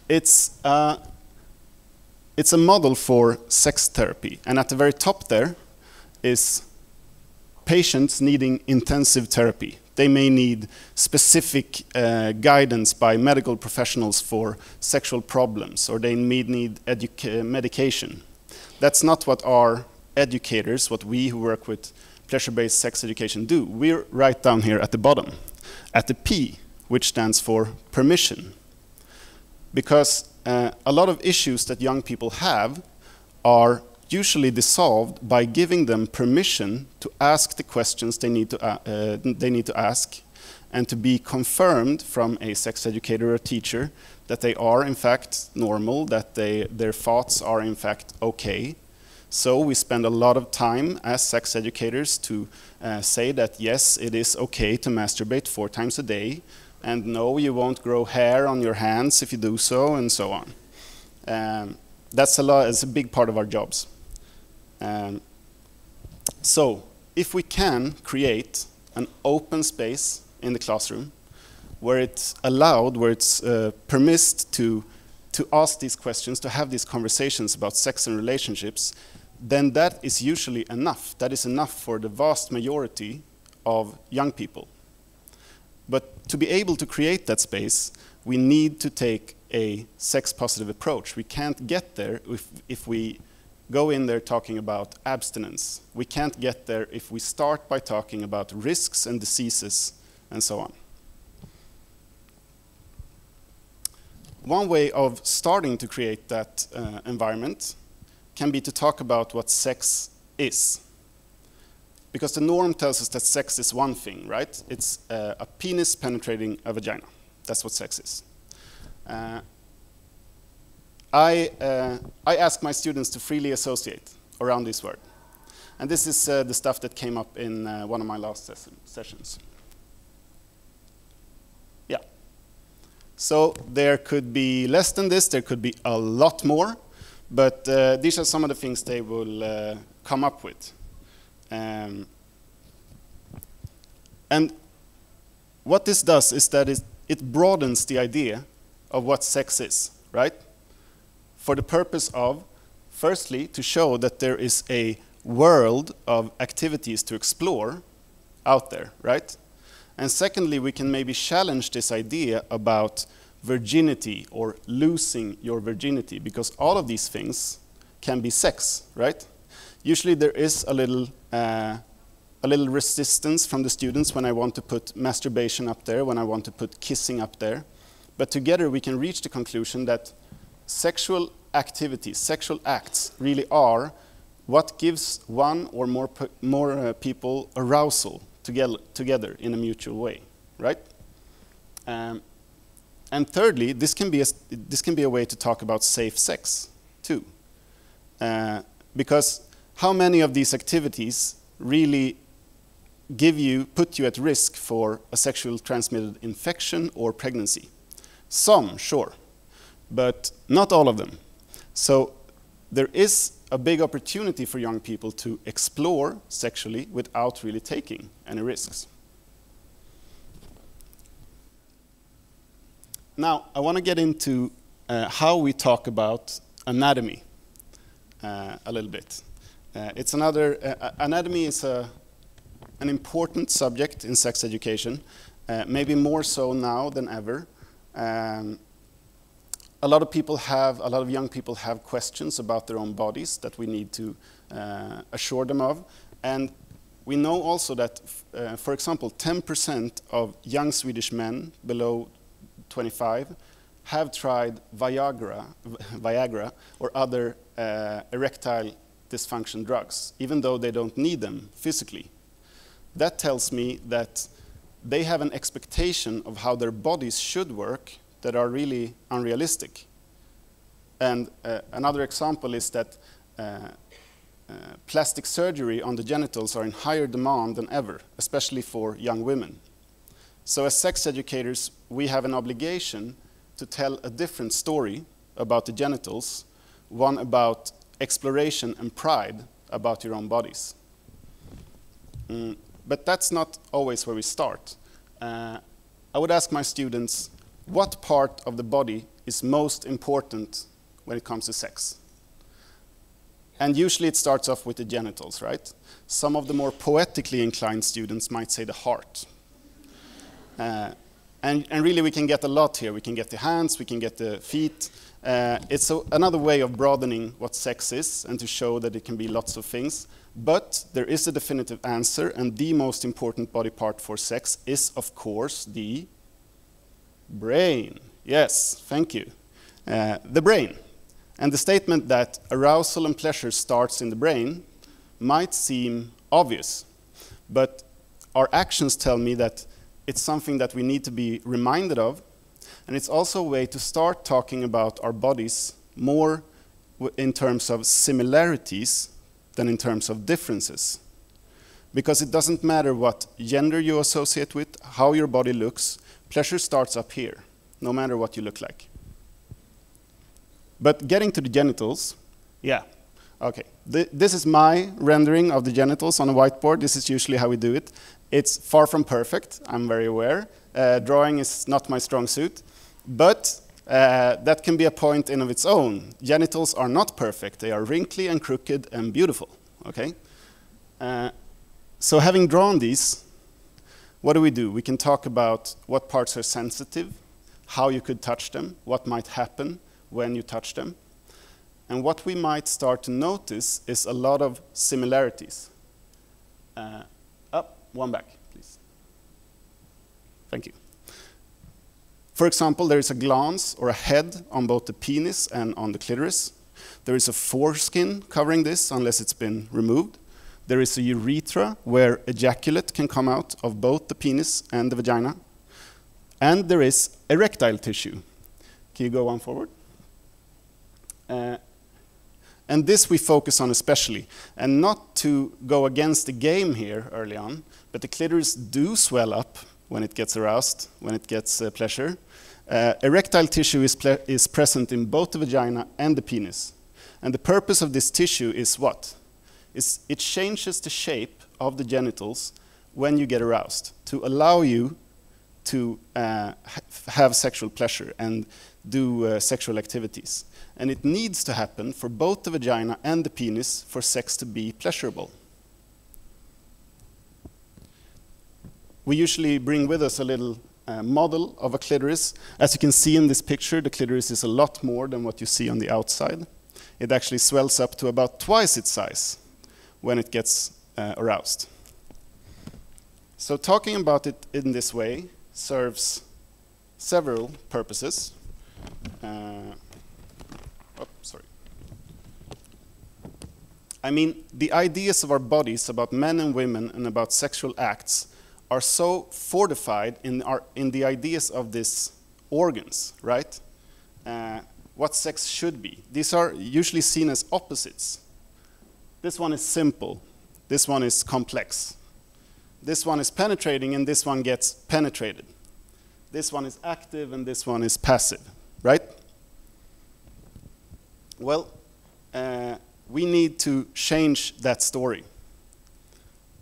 It's, uh, it's a model for sex therapy, and at the very top there is patients needing intensive therapy. They may need specific uh, guidance by medical professionals for sexual problems, or they may need uh, medication. That's not what our educators, what we who work with pleasure-based sex education do. We're right down here at the bottom, at the P, which stands for permission. Because uh, a lot of issues that young people have are usually dissolved by giving them permission to ask the questions they need to, uh, uh, they need to ask, and to be confirmed from a sex educator or teacher that they are in fact normal, that they, their thoughts are in fact okay. So we spend a lot of time as sex educators to uh, say that yes, it is okay to masturbate four times a day, and no, you won't grow hair on your hands if you do so, and so on. Um, that's a lot, it's a big part of our jobs. Um, so, if we can create an open space in the classroom where it's allowed, where it's uh, permitted to, to ask these questions, to have these conversations about sex and relationships, then that is usually enough. That is enough for the vast majority of young people. But to be able to create that space, we need to take a sex-positive approach. We can't get there if, if we go in there talking about abstinence. We can't get there if we start by talking about risks and diseases and so on. One way of starting to create that uh, environment can be to talk about what sex is. Because the norm tells us that sex is one thing, right? It's uh, a penis penetrating a vagina. That's what sex is. Uh, I, uh, I ask my students to freely associate around this word. And this is uh, the stuff that came up in uh, one of my last ses sessions. Yeah. So there could be less than this, there could be a lot more, but uh, these are some of the things they will uh, come up with. Um, and what this does is that it, it broadens the idea of what sex is, right? For the purpose of, firstly, to show that there is a world of activities to explore out there, right? And secondly, we can maybe challenge this idea about virginity or losing your virginity, because all of these things can be sex, right? Usually there is a little, uh, a little resistance from the students when I want to put masturbation up there, when I want to put kissing up there. But together we can reach the conclusion that sexual activities, sexual acts, really are what gives one or more, more uh, people arousal together, together in a mutual way, right? Um, and thirdly, this can, be a, this can be a way to talk about safe sex, too. Uh, because how many of these activities really give you, put you at risk for a sexually transmitted infection or pregnancy? Some, sure, but not all of them. So there is a big opportunity for young people to explore sexually without really taking any risks. Now, I want to get into uh, how we talk about anatomy uh, a little bit. Uh, it's another, uh, anatomy is a, an important subject in sex education, uh, maybe more so now than ever. Um, a lot of people have, a lot of young people have questions about their own bodies that we need to uh, assure them of. And we know also that, uh, for example, ten percent of young Swedish men below twenty-five have tried Viagra, Viagra or other uh, erectile dysfunction drugs, even though they don't need them physically. That tells me that they have an expectation of how their bodies should work that are really unrealistic. And uh, another example is that uh, uh, plastic surgery on the genitals are in higher demand than ever, especially for young women. So as sex educators, we have an obligation to tell a different story about the genitals one about exploration and pride about your own bodies. Mm, but that's not always where we start. Uh, I would ask my students, what part of the body is most important when it comes to sex? And usually it starts off with the genitals, right? Some of the more poetically inclined students might say the heart. Uh, and, and really we can get a lot here. We can get the hands, we can get the feet. Uh, it's a, another way of broadening what sex is and to show that it can be lots of things. But there is a definitive answer, and the most important body part for sex is, of course, the brain. Yes, thank you. Uh, the brain. And the statement that arousal and pleasure starts in the brain might seem obvious, but our actions tell me that it's something that we need to be reminded of, and it's also a way to start talking about our bodies more w in terms of similarities than in terms of differences. Because it doesn't matter what gender you associate with, how your body looks, pleasure starts up here, no matter what you look like. But getting to the genitals, yeah, okay. Th this is my rendering of the genitals on a whiteboard. This is usually how we do it. It's far from perfect, I'm very aware. Uh, drawing is not my strong suit, but uh, that can be a point in of its own. Genitals are not perfect. They are wrinkly and crooked and beautiful, okay? Uh, so having drawn these, what do we do? We can talk about what parts are sensitive, how you could touch them, what might happen when you touch them. And what we might start to notice is a lot of similarities. Uh, up, one back, please. Thank you. For example, there is a glans or a head on both the penis and on the clitoris. There is a foreskin covering this unless it's been removed. There is a urethra where ejaculate can come out of both the penis and the vagina. And there is erectile tissue. Can you go on forward? Uh, and this we focus on especially, and not to go against the game here early on, but the clitoris do swell up when it gets aroused, when it gets uh, pleasure. Uh, erectile tissue is, is present in both the vagina and the penis. And the purpose of this tissue is what? It's, it changes the shape of the genitals when you get aroused to allow you to uh, ha have sexual pleasure and do uh, sexual activities. And it needs to happen for both the vagina and the penis for sex to be pleasurable. We usually bring with us a little uh, model of a clitoris. As you can see in this picture, the clitoris is a lot more than what you see on the outside. It actually swells up to about twice its size when it gets uh, aroused. So talking about it in this way serves several purposes. Uh, oh, sorry. I mean, the ideas of our bodies about men and women and about sexual acts are so fortified in, our, in the ideas of these organs, right? Uh, what sex should be. These are usually seen as opposites. This one is simple. This one is complex. This one is penetrating and this one gets penetrated. This one is active and this one is passive, right? Well, uh, we need to change that story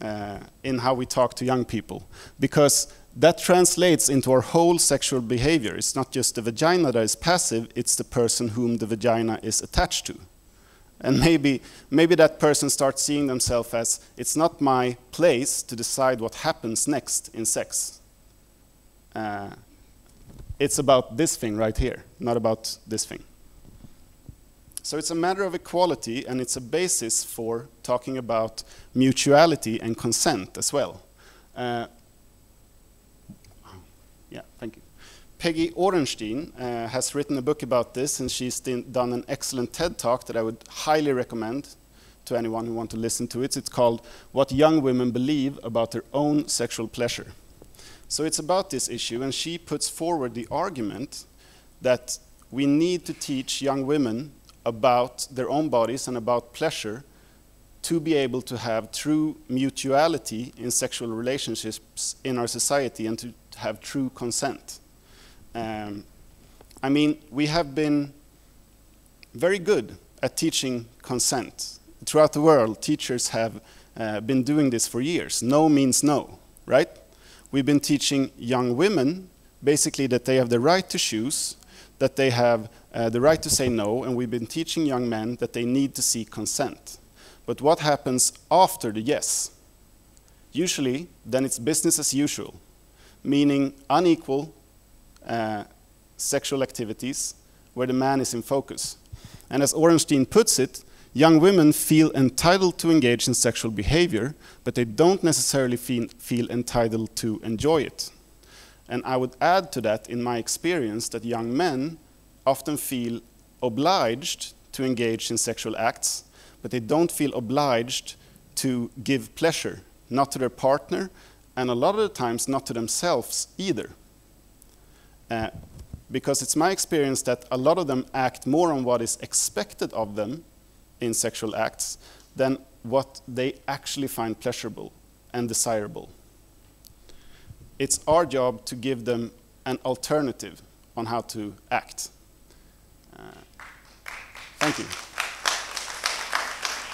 uh, in how we talk to young people, because that translates into our whole sexual behavior. It's not just the vagina that is passive, it's the person whom the vagina is attached to. And maybe, maybe that person starts seeing themselves as, it's not my place to decide what happens next in sex. Uh, it's about this thing right here, not about this thing. So it's a matter of equality, and it's a basis for talking about mutuality and consent as well. Uh, yeah, thank you. Peggy Orenstein uh, has written a book about this, and she's done an excellent TED Talk that I would highly recommend to anyone who wants to listen to it. It's called What Young Women Believe About Their Own Sexual Pleasure. So it's about this issue, and she puts forward the argument that we need to teach young women about their own bodies and about pleasure to be able to have true mutuality in sexual relationships in our society and to have true consent. Um, I mean, we have been very good at teaching consent. Throughout the world, teachers have uh, been doing this for years. No means no, right? We've been teaching young women basically that they have the right to choose, that they have uh, the right to say no, and we've been teaching young men that they need to seek consent. But what happens after the yes? Usually, then it's business as usual, meaning unequal uh, sexual activities where the man is in focus. And as Orenstein puts it, young women feel entitled to engage in sexual behavior, but they don't necessarily feel, feel entitled to enjoy it. And I would add to that, in my experience, that young men often feel obliged to engage in sexual acts, but they don't feel obliged to give pleasure, not to their partner, and a lot of the times not to themselves either. Uh, because it's my experience that a lot of them act more on what is expected of them in sexual acts than what they actually find pleasurable and desirable. It's our job to give them an alternative on how to act. Uh, thank you.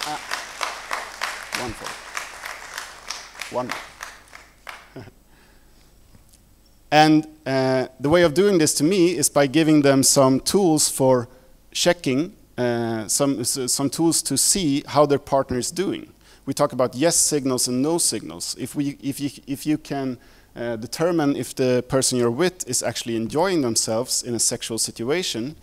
Uh, one more. One more. And uh, the way of doing this to me is by giving them some tools for checking, uh, some, some tools to see how their partner is doing. We talk about yes signals and no signals. If, we, if, you, if you can uh, determine if the person you're with is actually enjoying themselves in a sexual situation,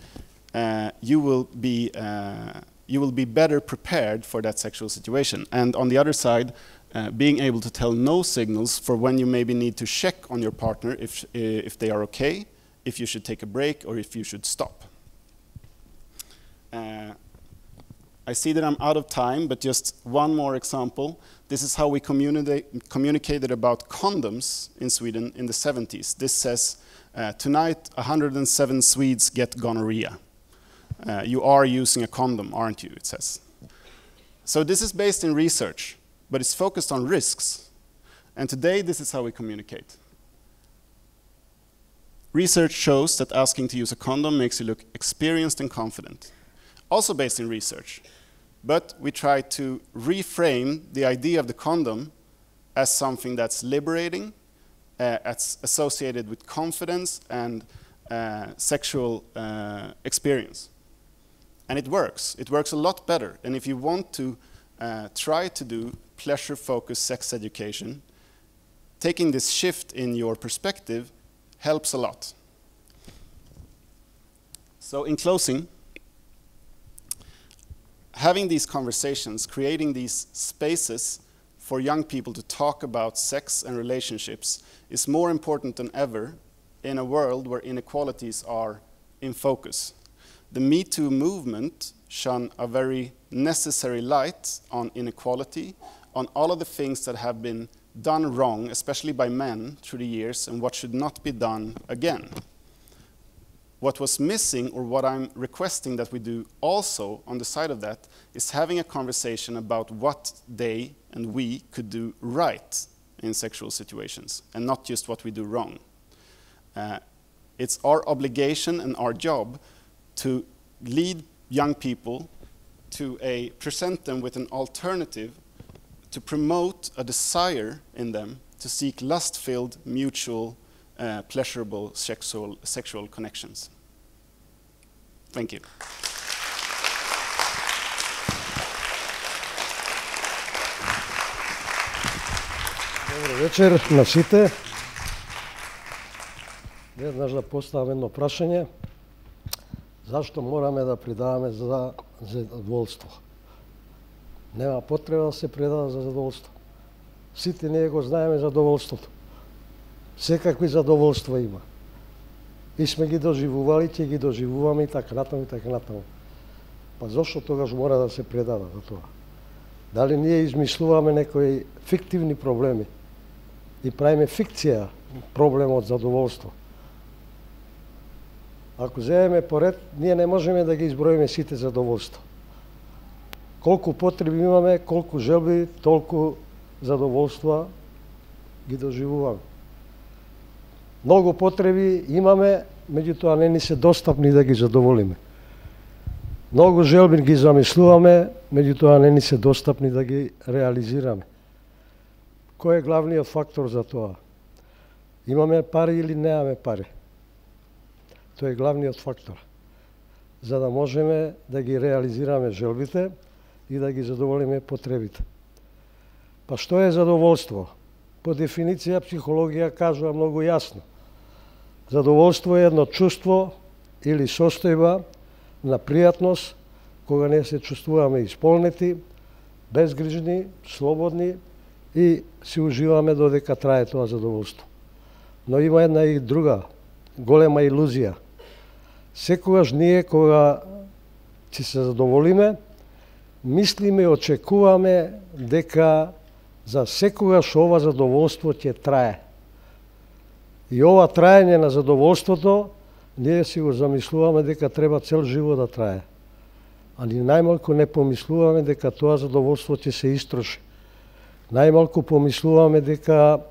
uh, you will be uh, you will be better prepared for that sexual situation. And on the other side, uh, being able to tell no signals for when you maybe need to check on your partner if, if they are okay, if you should take a break, or if you should stop. Uh, I see that I'm out of time, but just one more example. This is how we communicate, communicated about condoms in Sweden in the seventies. This says, uh, tonight one hundred seven Swedes get gonorrhea. Uh, you are using a condom, aren't you, it says. So this is based in research, but it's focused on risks. And today, this is how we communicate. Research shows that asking to use a condom makes you look experienced and confident. Also based in research, but we try to reframe the idea of the condom as something that's liberating, uh, that's associated with confidence and uh, sexual uh, experience. And it works. It works a lot better. And if you want to uh, try to do pleasure-focused sex education, taking this shift in your perspective helps a lot. So in closing, having these conversations, creating these spaces for young people to talk about sex and relationships is more important than ever in a world where inequalities are in focus. The Me Too movement shone a very necessary light on inequality, on all of the things that have been done wrong, especially by men through the years, and what should not be done again. What was missing, or what I'm requesting that we do also on the side of that, is having a conversation about what they and we could do right in sexual situations, and not just what we do wrong. Uh, it's our obligation and our job to lead young people to a, present them with an alternative, to promote a desire in them to seek lust-filled, mutual, uh, pleasurable sexual, sexual connections. Thank you. Добро вечер на сите. Веднаш да поставам едно прашање. Зашто мораме да придаваме за задоволство? Нема потреба да се предава за задоволство. Сите ние го знаеме задоволството. Секакви задоволства има. И сме ги доживували, ќе ги доживуваме и така натаму, и така натаму. Па зашто тогаш мора да се предава за тоа? Дали ние измислуваме некои фиктивни проблеми и правиме фикција проблемот задоволство? Ако земеме поред, ние не можеме да ги изброиме сите задоволства. Колку потреби имаме, колку желби, толку задоволства ги доживуваме. Многу потреби имаме, меѓутоа не ни се достапни да ги задоволиме. Многу желби ги замислуваме, меѓутоа не ни се достапни да ги реализираме. Кој е главниот фактор за тоа? Имаме пари или немаме пари? Тоа е главниот фактор. За да можеме да ги реализираме желбите и да ги задоволиме потребите. Па што е задоволство? По дефиниција психологија кажува многу јасно. Задоволство е едно чувство или состојба на пријатност, кога не се чувствуваме исполнети, безгрижни, слободни и си уживаме додека трае тоа задоволство. Но има една и друга голема илузија. Секогаш ние кога ќе се задоволиме, мислиме и очекуваме дека за секогаш ова задоволство ќе трае. И ова траење на задоволството, ние си го замислуваме дека треба цел живот да трае. Али најмалку не помислуваме дека тоа задоволство ќе се истроши. Најмалку помислуваме дека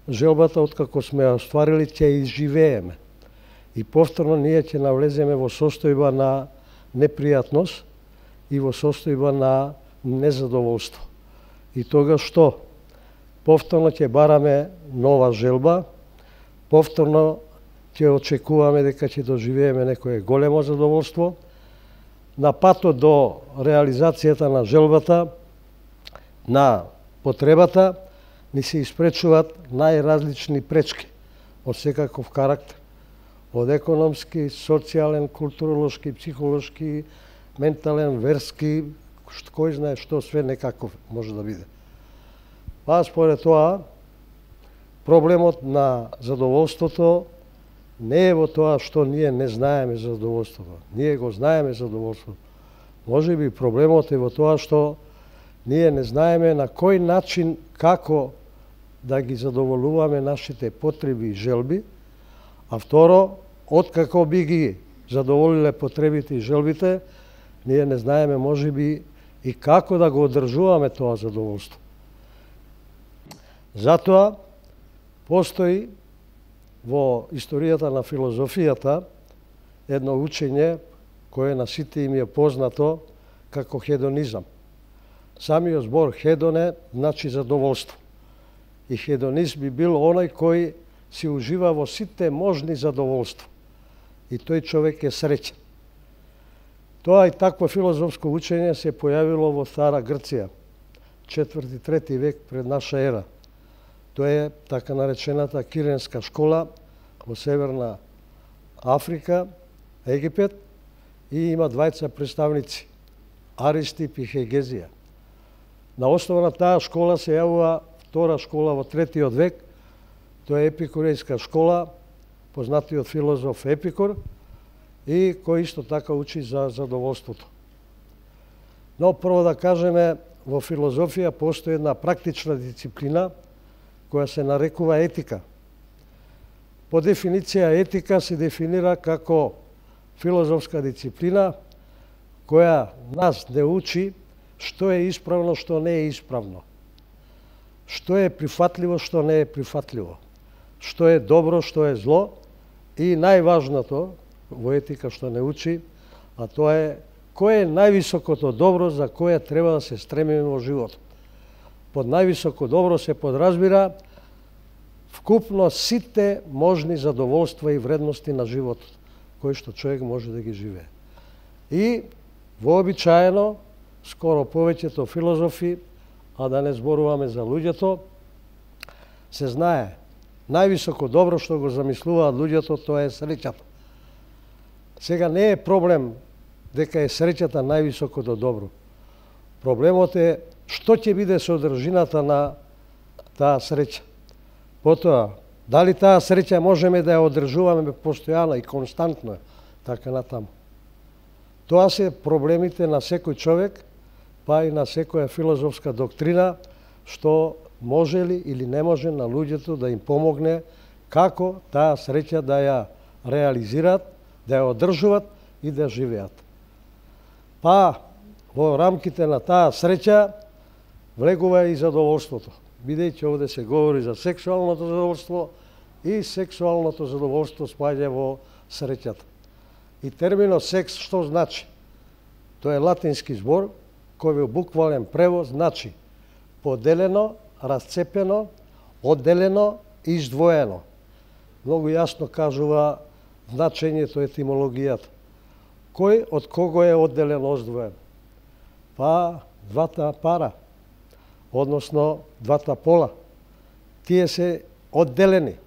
желбата откако сме ја остварили ќе изживееме. И повторно ние ќе навлеземе во состојба на непријатност и во состојба на незадоволство. И тога што? Повторно ќе бараме нова желба, повторно ќе очекуваме дека ќе доживееме некое големо задоволство. На патот до реализацијата на желбата, на потребата, ни се испречуваат најразлични пречки од секаков карактер. Од економски, социјален, културолошки, психолошки, ментален, верски, кој знае што све некаков може да биде. Па според тоа, проблемот на задоволството не е во тоа што ние не знаеме задоволството. Ние го знаеме задоволството. Може би проблемот е во тоа што ние не знаеме на кој начин, како да ги задоволуваме нашите потреби и желби, а второ, откако би ги задоволиле потребите и желбите, ние не знаеме може би и како да го одржуваме тоа задоволство. Затоа постои во историјата на филозофијата едно учење кое на сите им е познато како хедонизам. Самиот збор хедоне значи задоволство. И хедонист би бил оној кој си ужива во сите можни задоволства. И тој човек е среќен. Тоа и такво филозофско учење се појавило во Стара Грција, четврти-трети век пред наша ера. Тоа е така наречената Киренска школа во Северна Африка, Египет, и има двајца представници, Аристип и Хегезија. На основа на таа школа се јавува втора школа во третиот век, тоа е Епикурејска школа, познатиот филозоф Епикур, и кој исто така учи за задоволството. Но прво да кажеме, во филозофија постои една практична дисциплина која се нарекува етика. По дефиниција етика се дефинира како филозофска дисциплина која нас не учи што е исправно, што не е исправно. Што е прифатливо, што не е прифатливо. Што е добро, што е зло. И најважното во етика што не учи, а тоа е кој е највисокото добро за кое треба да се стремиме во животот. Под највисоко добро се подразбира вкупно сите можни задоволства и вредности на животот, кои што човек може да ги живее. И вообичаено, скоро повеќето филозофи, а да не зборуваме за луѓето, се знае, највисоко добро што го замислуваат луѓето, тоа е среќата. Сега не е проблем дека е среќата највисокото добро. Проблемот е што ќе биде содржината на таа среќа. Потоа, дали таа среќа можеме да ја одржуваме постојано и константно, така натаму. Тоа се проблемите на секој човек, па и на секоја филозофска доктрина, што може ли или не може на луѓето да им помогне како таа среќа да ја реализираат, да ја одржуваат и да живеат. Па, во рамките на таа среќа влегува и задоволството, бидејќи овде се говори за сексуалното задоволство и сексуалното задоволство спаѓа во среќата. И терминот секс што значи? Тоа е латински збор кој во буквален превод значи поделено, расцепено, одделено и издвоено. Многу јасно кажува значењето, етимологијата. Кој од кого е одделен, оздвоен? Па двата пара, односно двата пола. Тие се одделени.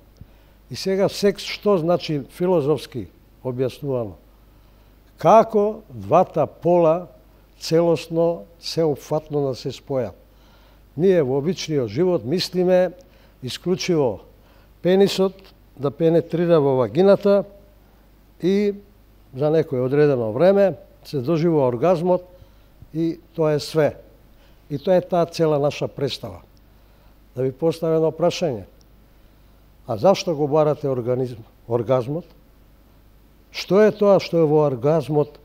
И сега секс што значи филозофски објаснувано? Како двата пола целосно, сеопфатно да се спојат. Ние во обичниот живот мислиме исклучиво пенисот да пенетрира во вагината и за некој одредено време се доживува оргазмот и тоа е све. И тоа е таа цела наша представа. Да ви поставам едно прашање. А зашто го барате организм, оргазмот? Што е тоа што е во оргазмот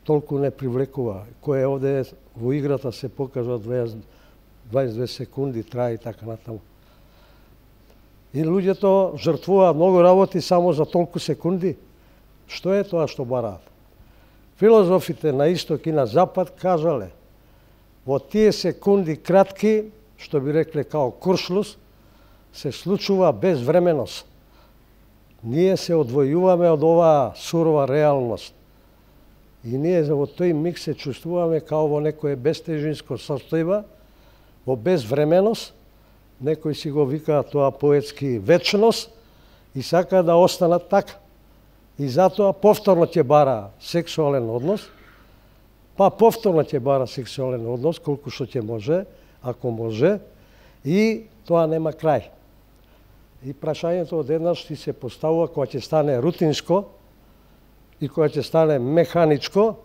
толку не привлекува? Кој е овде во играта се покажува дваесет и две секунди, трае и така натаму. И луѓето жртвуваат многу работи само за толку секунди. Што е тоа што бараат? Филозофите на исток и на запад кажале, во тие секунди кратки, што би рекле као куршлус, се случува безвременост. Ние се одвојуваме од оваа сурова реалност. И ние во тој миг се чувствуваме као во некое бестежинско состојба, во безвременост, некои си го викаат тоа поетски вечност и сака да останат така. И затоа повторно ќе бара сексуален однос, па повторно ќе бара сексуален однос, колку што ќе може, ако може, и тоа нема крај. И прашањето одеднаш ти се поставува кога ќе стане рутинско и кога ќе стане механичко,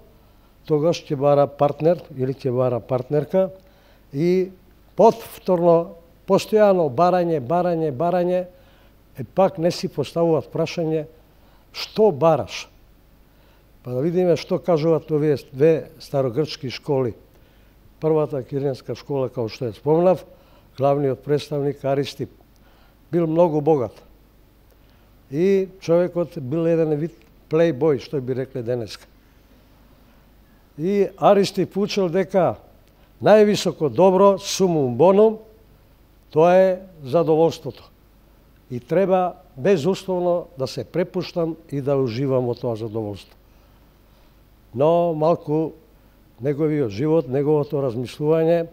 тогаш ќе бара партнер или ќе бара партнерка и повторно, постојано барање, барање, барање, е пак не си поставуваат прашање што бараш. Па да видиме што кажуваат овие две старогрчки школи. Првата киренска школа, како што ја спомнав, главниот представник Аристип бил многу богат. И човекот бил еден вид плейбој, што би рекле денеска. И Аристип учил дека највисоко добро, сумум бонум, тоа е задоволството. И треба безусловно да се препуштам и да уживам во тоа задоволство. Но малку неговиот живот, неговото размислување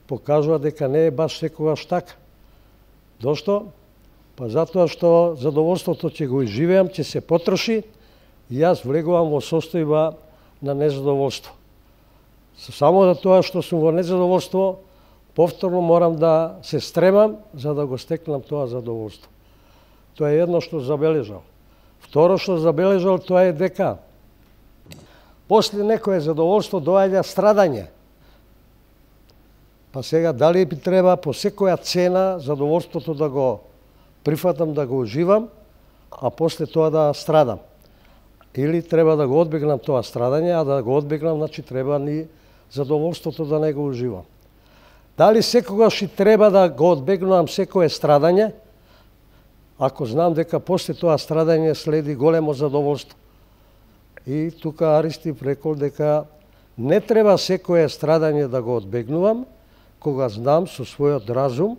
покажува дека не е баш секогаш така. Зошто? Па затоа што задоволството ќе го изживеам, ќе се потроши и јас влегувам во состојба на незадоволство. Само за тоа што сум во незадоволство, повторно морам да се стремам за да го стекнам тоа задоволство. Тоа е едно што забележал. Второ што забележал, тоа е дека после некое задоволство доаѓа страдање. Па сега дали би треба по секоја цена задоволството да го прифатам, да го уживам, а после тоа да страдам. Или треба да го одбегнам тоа страдање, а да го одбегнам, значи треба ни задоволството да не го уживам. Дали секогаш и треба да го одбегнувам секое страдање, ако знам дека после тоа страдање следи големо задоволство. И тука Аристип рекол дека не треба секое страдање да го одбегнувам, кога знам со својот разум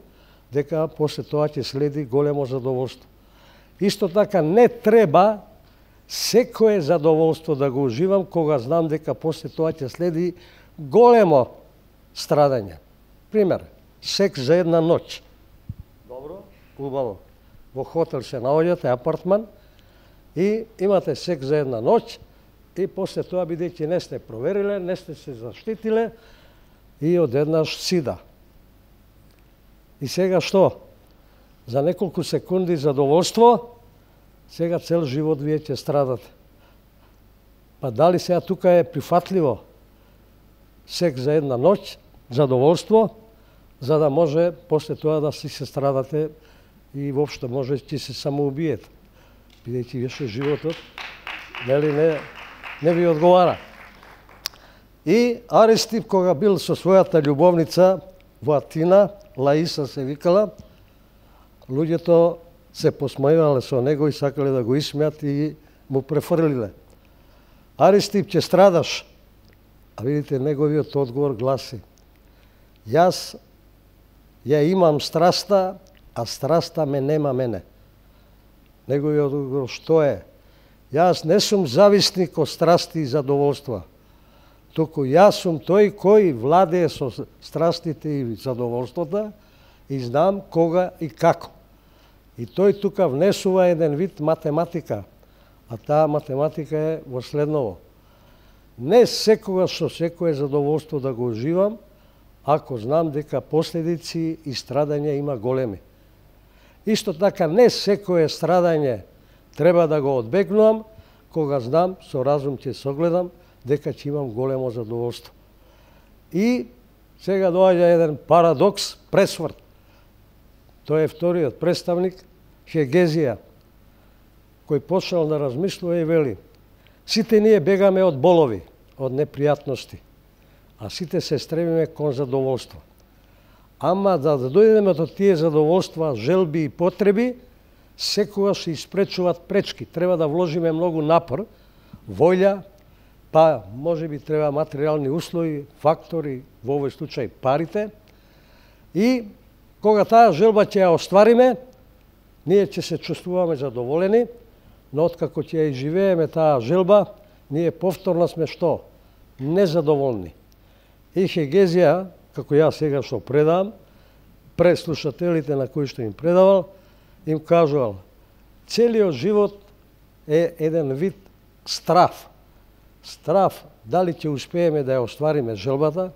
дека после тоа ќе следи големо задоволство. Исто така не треба секое задоволство да го уживам, кога знам дека после тоа ќе следи големо страдање. Пример, секс за една ноќ. Добро, убаво. Во хотел се наоѓате, апартман, и имате секс за една ноќ, и после тоа, бидејќи не сте провериле, не сте се заштитиле, и одеднаш сида. И сега што? За неколку секунди задоволство, сега цел живот вие ќе страдате. Па дали сега тука е прифатливо секс за една ноќ, задоволство, за да може после тоа да си се страдате и воопшто може ќе се самоубиете. Бидејќи више животот, нели не, не ви одговара. И Аристип, кога бил со својата љубовница во Атина, Лаиса се викала, луѓето се посмејувале со него и сакале да го исмеат и му префрлиле. Аристип, ќе страдаш. А видите, неговиот одговор гласи: јас ја имам страста, а страста ме нема мене. Неговиот одговор што е? Јас не сум зависник од страсти и задоволства, туку јас сум тој кој владее со страстите и задоволствата и знам кога и како. И тој тука внесува еден вид математика, а таа математика е во следново: не секогаш со секое задоволство да го уживам, ако знам дека последици и страдања има големи. Исто така, не секое страдање треба да го одбегнувам, кога знам, со разум ќе согледам, дека ќе имам големо задоволство. И сега доаѓа еден парадокс, пресврт. Тој е вториот представник, Хегезија, кој почнал да размислува и вели: сите ние бегаме од болови, од непријатности, а сите се стремиме кон задоволство. Ама да дојдеме до тие задоволства, желби и потреби, секогаш се испречуваат пречки. Треба да вложиме многу напор, волја, па може би треба материјални услови, фактори, во овој случај парите. И кога таа желба ќе ја оствариме, ние ќе се чувствуваме задоволени, но откако ќе ја изживееме таа желба, ние повторно сме што? Незадоволни. И Хегезија, како ја сега што предавам, пред слушателите на кои што им предавал, им кажувал: целиот живот е еден вид страв. Страв дали ќе успееме да ја оствариме желбата,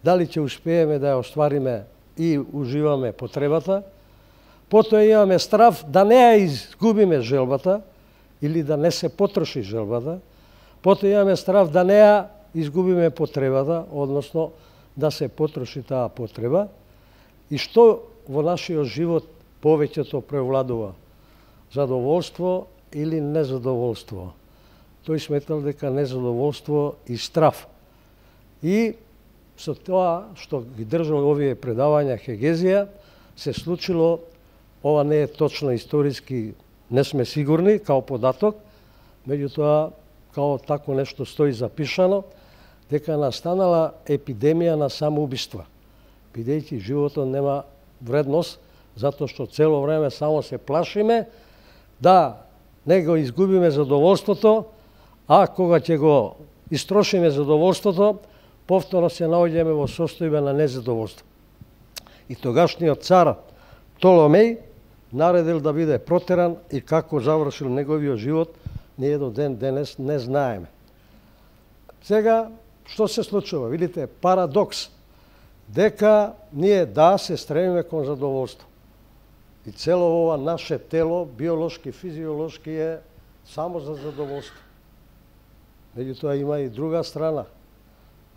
дали ќе успееме да ја оствариме и уживаме потребата, потоа имаме страв да не ја изгубиме желбата или да не се потроши желбата, потоа имаме страв да не ја изгубиме потребата, односно да се потроши таа потреба. И што во нашиот живот повеќето превладува? Задоволство или незадоволство? Тој сметал дека незадоволство и страв. И со тоа што ги држал овие предавања Хегезија, се случило, ова не е точно историски, не сме сигурни, као податок, меѓутоа, као тако нешто стои запишано, дека настанала епидемија на самоубиства, бидејќи животот нема вредност, затоа што цело време само се плашиме да не го изгубиме задоволството, а кога ќе го истрошиме задоволството, повторно се наоѓаме во состојба на незадоволство. И тогашниот цар Птоломеј наредил да биде протеран и како завршил неговиот живот, ние до ден денес не знаеме. Сега, што се случува? Видите, парадокс. Дека ние да се стремиме кон задоволство. И цело ова наше тело, биолошки, физиолошки е само за задоволство. Меѓутоа има и друга страна,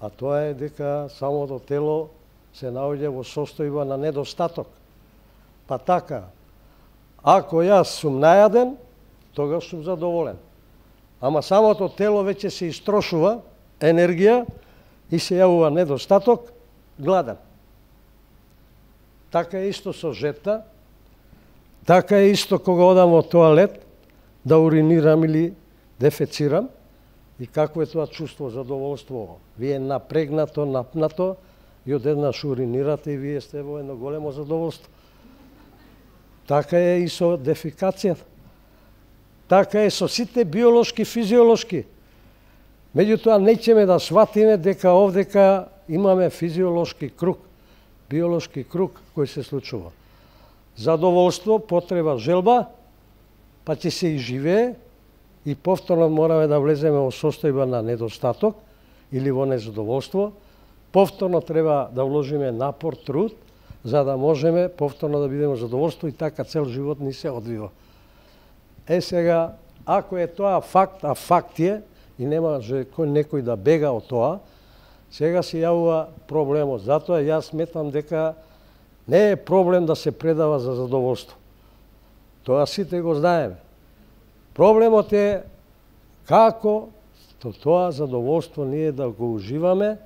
а тоа е дека самото тело се наоѓа во состојба на недостаток. Па така, ако јас сум најаден, тогаш сум задоволен. Ама самото тело веќе се истрошува енергија и се јавува недостаток, гладен. Така е исто со жета, така е исто кога одам во тоалет да уринирам или дефецирам. И какво е тоа чувство, задоволство? Вие напрегнато, напнато и одеднаш уринирате и вие сте во едно големо задоволство. Така е и со дефекацијата. Така е со сите биолошки, физиолошки. Меѓутоа, неќеме да сватиме дека овдека имаме физиолошки круг, биолошки круг кој се случува. Задоволство, потреба, желба, па ќе се изживее и повторно мораме да влеземе во состојба на недостаток или во незадоволство. Повторно треба да вложиме напор, труд, за да можеме повторно да бидеме задоволство и така цел живот ни се одвива. Е сега, ако е тоа факт, а факт е, и нема кој некој да бега од тоа, сега се јавува проблемот. Затоа јас сметам дека не е проблем да се предава за задоволство. Тоа сите го знаеме. Проблемот е како тоа задоволство ние да го уживаме,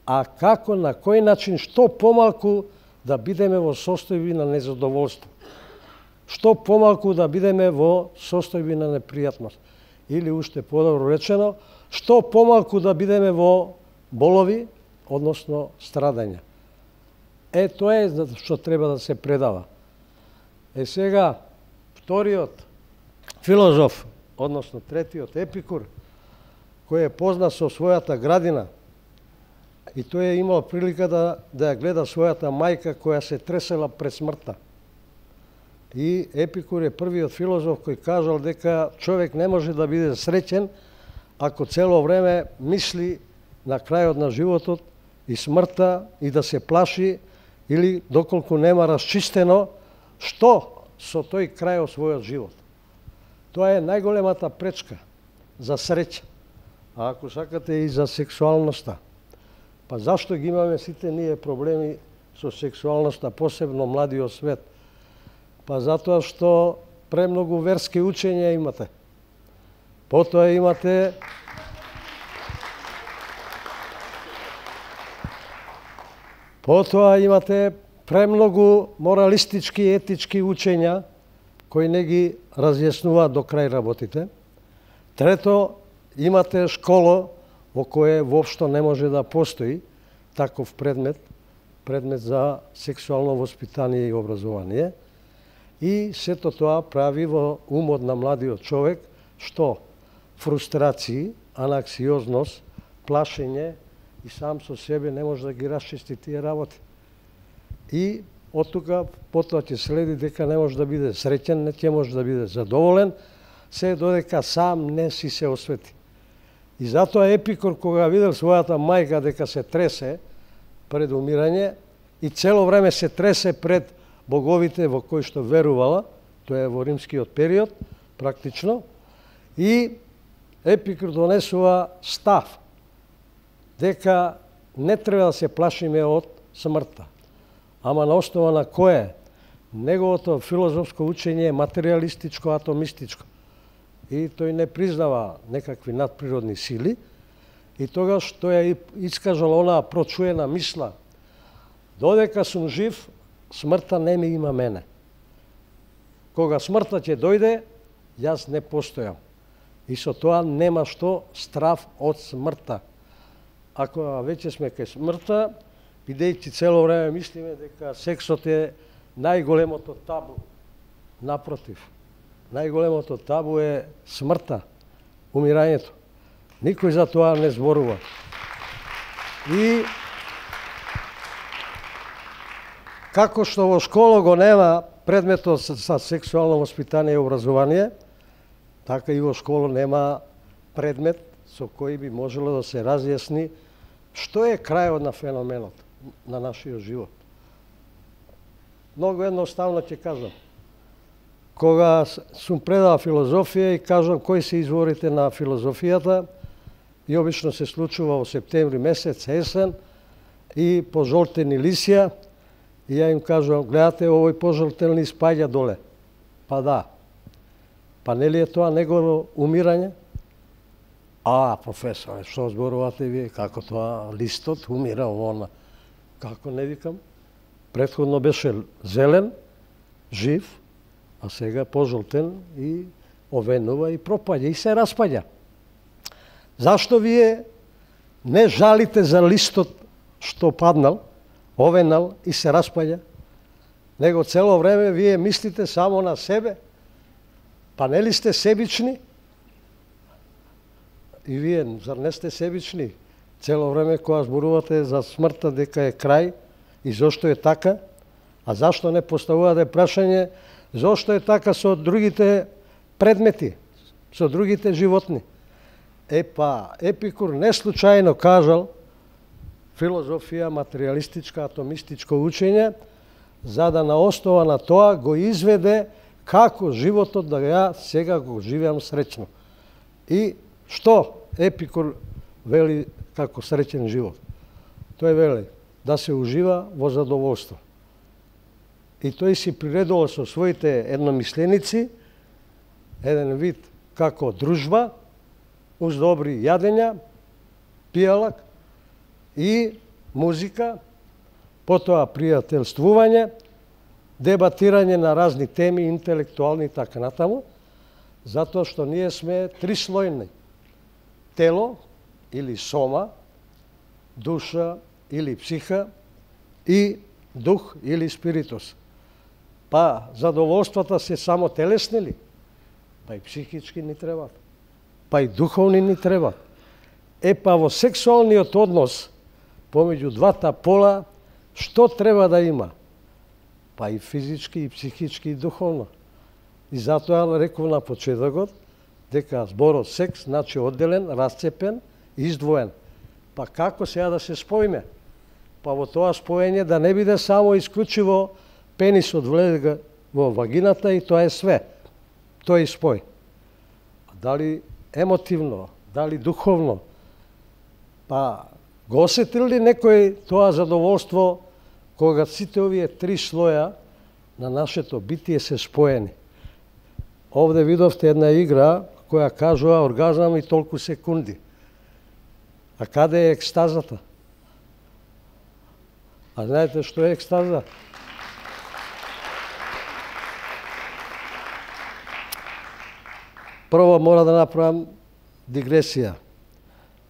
а како, на кој начин, што помалку да бидеме во состојби на незадоволство. Што помалку да бидеме во состојби на непријатност. Или уште подобро речено, што помалку да бидеме во болови, односно страдања. Е, тоа е што треба да се предава. Е, сега, вториот филозоф, односно третиот Епикур, кој е познат со својата градина, и тој е имал прилика да, да ја гледа својата мајка која се тресела пред смртта. И Епикур е првиот филозоф кој кажал дека човек не може да биде среќен ако цело време мисли на крајот на животот и смртта и да се плаши или доколку нема расчистено што со тој крај од својот живот. Тоа е најголемата пречка за среќа. А ако сакате и за сексуалноста. Па зашто ги имаме сите ние проблеми со сексуалноста, посебно младиот свет? Па затоа што премногу верски учења имате. Потоа имате Потоа имате премногу моралистички и етички учења кои не ги разјаснуваат до крај работите. Трето, имате школа во кое воопшто не може да постои таков предмет, предмет за сексуално воспитание и образование. И сето тоа прави во умот на младиот човек што? Фрустрации, анаксиозност, плашење и сам со себе не може да ги расчисти тие работи. И од тука потоа ќе следи дека не може да биде среќен, не ќе може да биде задоволен, се додека сам не си се освети. И затоа Епикур, кога видел својата мајка дека се тресе пред умирање и цело време се тресе пред боговите во кои што верувала, тоа е во римскиот период, практично, и Епикур донесува став дека не треба да се плашиме од смртта. Ама на основа на кое? Неговото филозофско учење е материалистичко, атомистичко. И тој не признава некакви надприродни сили. И тогаш тој ја искажал онаа прочуена мисла: додека сум жив, смртта не ми има мене. Кога смртта ќе дојде, јас не постојам. И со тоа нема што страв од смртта. Ако веќе сме кај смртта, бидејќи цело време мислиме дека сексот е најголемото табу, напротив, најголемото табу е смртта, умирањето. Никој за тоа не зборува. И како што во школа го нема предметот за сексуално воспитание и образование, така и во школа нема предмет со кој би можело да се разјасни што е крајот на феноменот на нашиот живот. Многу едноставно ќе кажам. Кога сум предал филозофија и кажам кои се изворите на филозофијата, и обично се случува во септември месец, есен, и пожолтени лисја, и ја им кажувам: гледате, овој пожолтен лист паѓа доле. Па да. Па нели е тоа негово умирање? А, професоре, што зборувате вие? Како тоа листот умира вона? Како не викам? Претходно беше зелен, жив, а сега пожолтен и овенува и пропаѓа и се распаѓа. Зашто вие не жалите за листот што паднал, овенал и се распаѓа? Него цело време вие мислите само на себе? Па нели сте себични? И вие, зар не сте себични? Цело време кога зборувате за смртта дека е крај, и зошто е така? А зашто не поставувате прашање зошто е така со другите предмети, со другите животни? Е па, Епикур не случајно кажал филозофија, материалистичка, атомистичко учење, за да на основа на тоа го изведе како животот да ја сега го живеам среќно. И што Епикур вели како среќен живот? Тој вели да се ужива во задоволство. И тој си приредувал со своите едномисленици еден вид како дружба, уз добри јадења, пијалак и музика, потоа пријателствување, дебатирање на разни теми, интелектуални и така натаму, затоа што ние сме трислојни. Тело или сома, душа или психа и дух или спиритус. Па задоволствата се само телесни ли? Па и психички ни требат. Па и духовни ни требат. Е па во сексуалниот однос помеѓу двата пола, што треба да има? Па и физички, и психички, и духовно. И затоа реков на почетокот, дека зборот секс, значи одделен, расцепен, издвоен. Па како сега да се споиме? Па во тоа споење да не биде само исклучиво пенисот влезе во вагината и тоа е све. Тоа е спој. Дали емотивно, дали духовно, па го осетил ли некој тоа задоволство кога сите овие три слоја на нашето битие се споени? Овде видовте една игра која кажува оргазам и толку секунди. А каде е екстазата? А знаете што е екстаза? Прво мора да направам дигресија.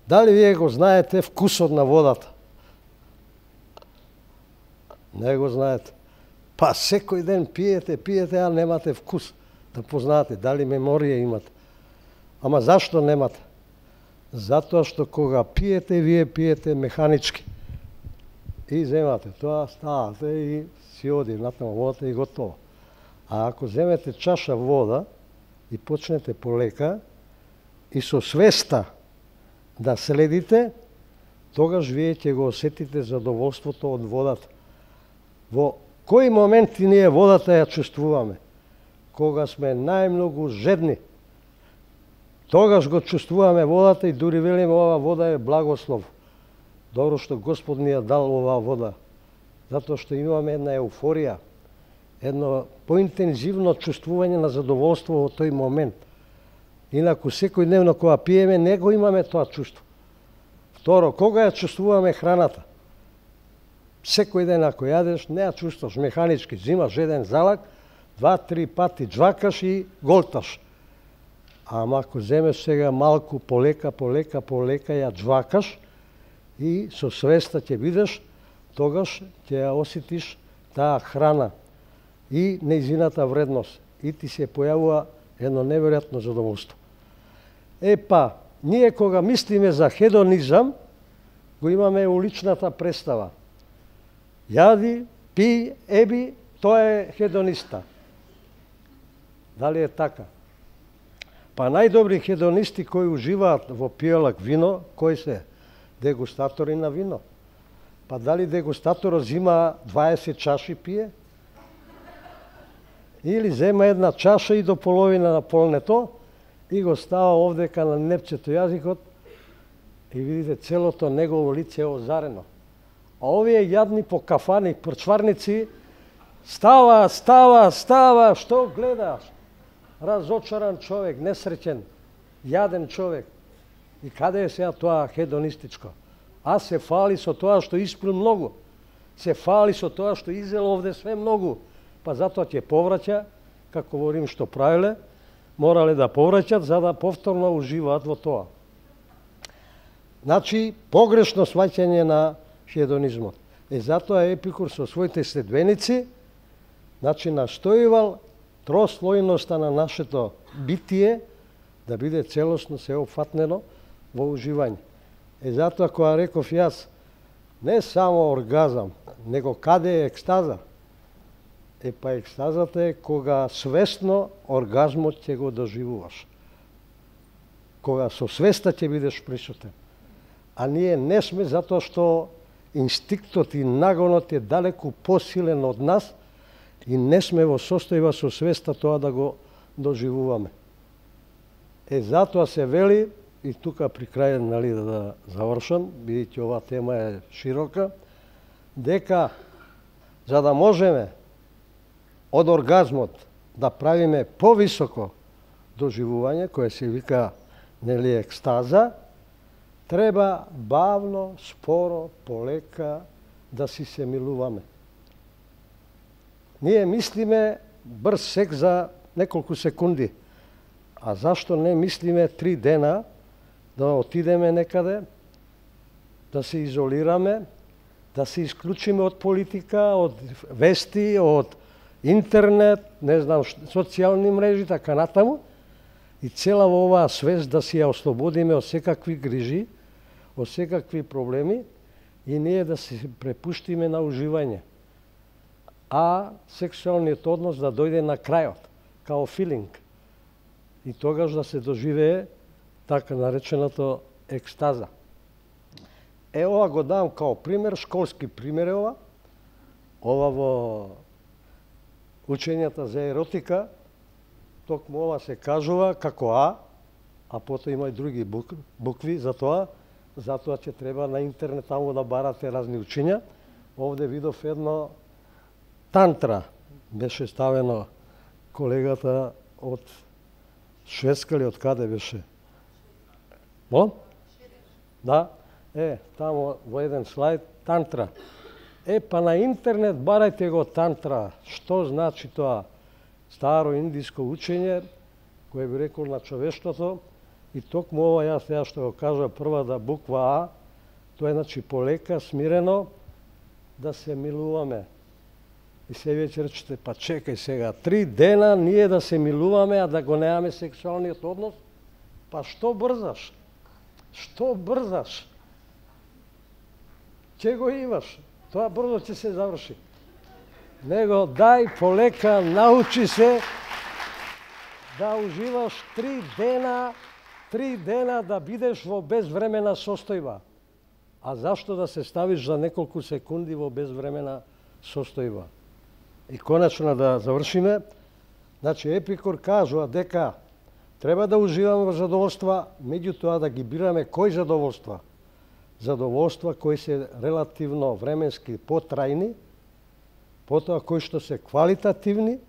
Дали вие го знаете вкусот на водата? Не го знаете. Па секој ден пиете, пиете, а немате вкус да познаете. Дали меморија имате? Ама зашто немате? Затоа што кога пиете, вие пиете механички. И земате тоа, ставате и си оди натаму водата и готово. А ако земете чаша вода и почнете полека и со свеста да следите, тогаш вие ќе го осетите задоволството од водата. Во кои моменти ние водата ја чувствуваме? Кога сме најмногу жедни. Тогаш го чувствуваме водата и дури велиме ова вода е благослов. Добро што Господ ни ја дал оваа вода. Затоа што имаме една еуфорија, едно поинтензивно чувствување на задоволство во тој момент. Инаку секој дневно кога пиеме, не го имаме тоа чувство. Второ, кога ја чувствуваме храната? Секој ден ако јадеш, не ја чувствуваш механички. Зимаш еден залак, два-три пати джвакаш и голташ. Ама ако земеш сега малку, полека, полека, полека, ја джвакаш и со свеста ќе бидеш, тогаш ќе ја осетиш таа храна и нејзината вредност. И ти се појавува едно неверојатно задоволство. Е па, ние кога мислиме за хедонизам, го имаме уличната представа. Јади, пи, еби, тоа е хедониста. Дали е така? Па најдобри хедонисти кои уживаат во пијалак вино, кои се? Дегустатори на вино. Па дали дегустаторот зима дваесет чаши пие? Или зема една чаша и до половина на полнето и го става овдека на непчето јазикот и видите целото негово лице е озарено. А овие јадни по кафани, прчварници, става, става, става, што гледаш? Разочаран човек, несреќен, јаден човек. И каде е сега тоа хедонистичко? А се фали со тоа што испил многу. Се фали со тоа што изел овде све многу. Па затоа ќе повраќа, како во Рим што правиле, морале да повраќат за да повторно уживаат во тоа. Значи, погрешно сваќање на хедонизмот. И затоа Епикур со своите следбеници, значи, настоивал трослојноста на нашето битие да биде целосно сеопфатнено во уживање. И затоа кога реков јас, не само оргазам, него каде е екстаза? Е па екстазата е кога свесно оргазмот ќе го доживуваш. Кога со свеста ќе бидеш присутен. А ние не сме, затоа што инстинктот и нагонот е далеку посилен од нас и не сме во состојба со свеста тоа да го доживуваме. Е, затоа се вели, и тука при крај, нали, да завршам, бидејќи оваа тема е широка, дека за да можеме од оргазмот да правиме повисоко доживување, кое се вика, нели, екстаза, треба бавно, споро, полека да си се милуваме. Ние мислиме брз секс за неколку секунди. А зашто не мислиме три дена да отидеме некаде, да се изолираме, да се исклучиме од политика, од вести, од интернет, не знам, социјални мрежи, така натаму, и цела во оваа свест да се ја ослободиме од секакви грижи, од секакви проблеми, и ние да се препуштиме на уживање. А сексуалниот однос да дојде на крајот, као филинг. И тогаш да се доживее така нареченото екстаза. Е, ова го давам као пример, школски пример е ова. Ова во учењата за еротика, токму ова се кажува како А, а потоа има и други букви за тоа, затоа ќе треба на интернет таму да барате разни учења. Овде видов едно тантра, беше ставено колегата од Шведска или од каде беше? Мо? Да, е, таму во еден слайд, тантра. Е, па на интернет барајте го тантра. Што значи тоа? Старо индиско учење, кое би рекол на човештвото, и токму ова јас сега што го кажа првата буква А, тоа е значи полека, смирено, да се милуваме. И се веќе речете, па чекај сега, три дена ние да се милуваме, а да го немаме сексуалниот однос? Па што брзаш? Што брзаш? Ќе го имаш? Тоа брзо ќе се заврши. Него дај полека, научи се да уживаш три дена, три дена да бидеш во безвремена состојба. А зашто да се ставиш за неколку секунди во безвремена состојба? И конечно да завршиме, значи Епикур кажува дека треба да уживаме во задоволства, меѓутоа да ги бираме кои задоволства? Задоволства кои се релативно временски потрајни, потоа кои што се квалитативни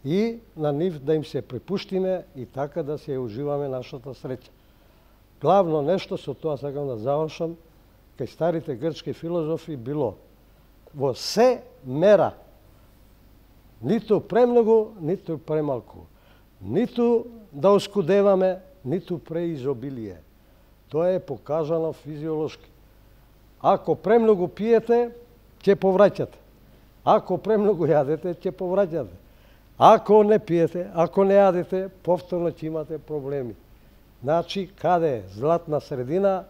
и на нив да им се препуштиме и така да се уживаме нашата среќа. Главно нешто, со тоа сакам да завршам, кај старите грчки филозофи било во се мера, ниту премногу, ниту премалку, ниту да оскудеваме, ниту преизобилие. Тоа е покажано физиолошки. Ако премногу пиете, ќе повраќате. Ако премногу јадете, ќе повраќате. Ако не пиете, ако не јадете, повторно ќе имате проблеми. Значи, каде е златна средина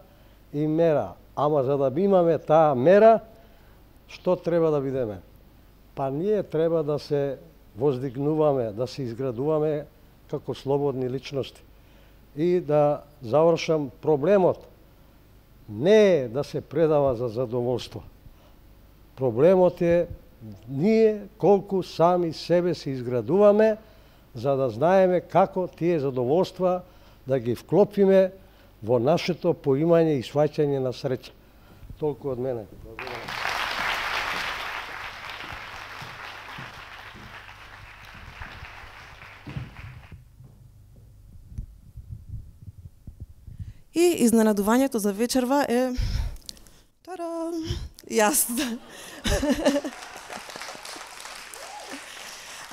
и мера. Ама за да имаме таа мера, што треба да бидеме? Па ние треба да се воздигнуваме, да се изградуваме како слободни личности. И да завршам, проблемот не е да се предава за задоволство. Проблемот е ние колку сами себе се изградуваме, за да знаеме како тие задоволства да ги вклопиме во нашето поимање и сваќање на среќа. Толку од мене. И изненадувањето за вечерва е... Тара! Јас.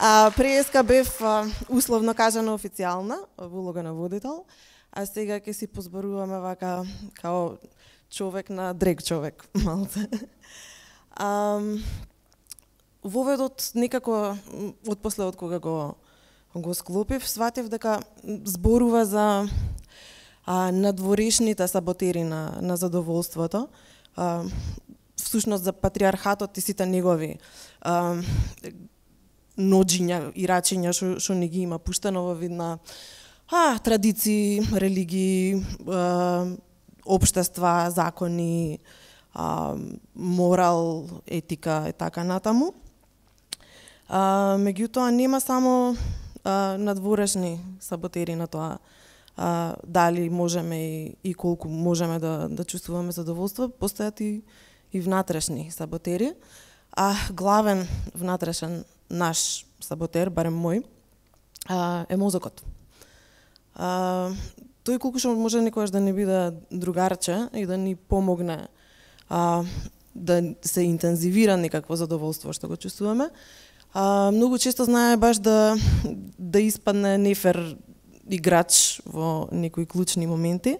А, преска бев а, условно кажано официјална во улога на водител, а сега ќе си позборуваме вака као човек на дрег човек, малце. А, воведот некако од после од кога го го склопив, сватив дека зборува за а, надворешните саботери на, на задоволството, а, всушност за патриархатот и сите негови а, ноџиња и рачиња што, што не ги има пуштено во вид на а, традиции, религии, а, општества, закони, а, морал, етика и така натаму. А, меѓутоа нема само а, надворешни саботери на тоа а, дали можеме и, и колку можеме да, да чувствуваме задоволство, постојат и, и внатрешни саботери, а главен внатрешен наш саботер, барем мој, а, е мозокот. А, тој колку што може некојаш да не биде другарче и да ни помогне а, да се интензивира некакво задоволство што го чувствуваме, а, многу често знае баш да, да испадне нефер играч во некои клучни моменти.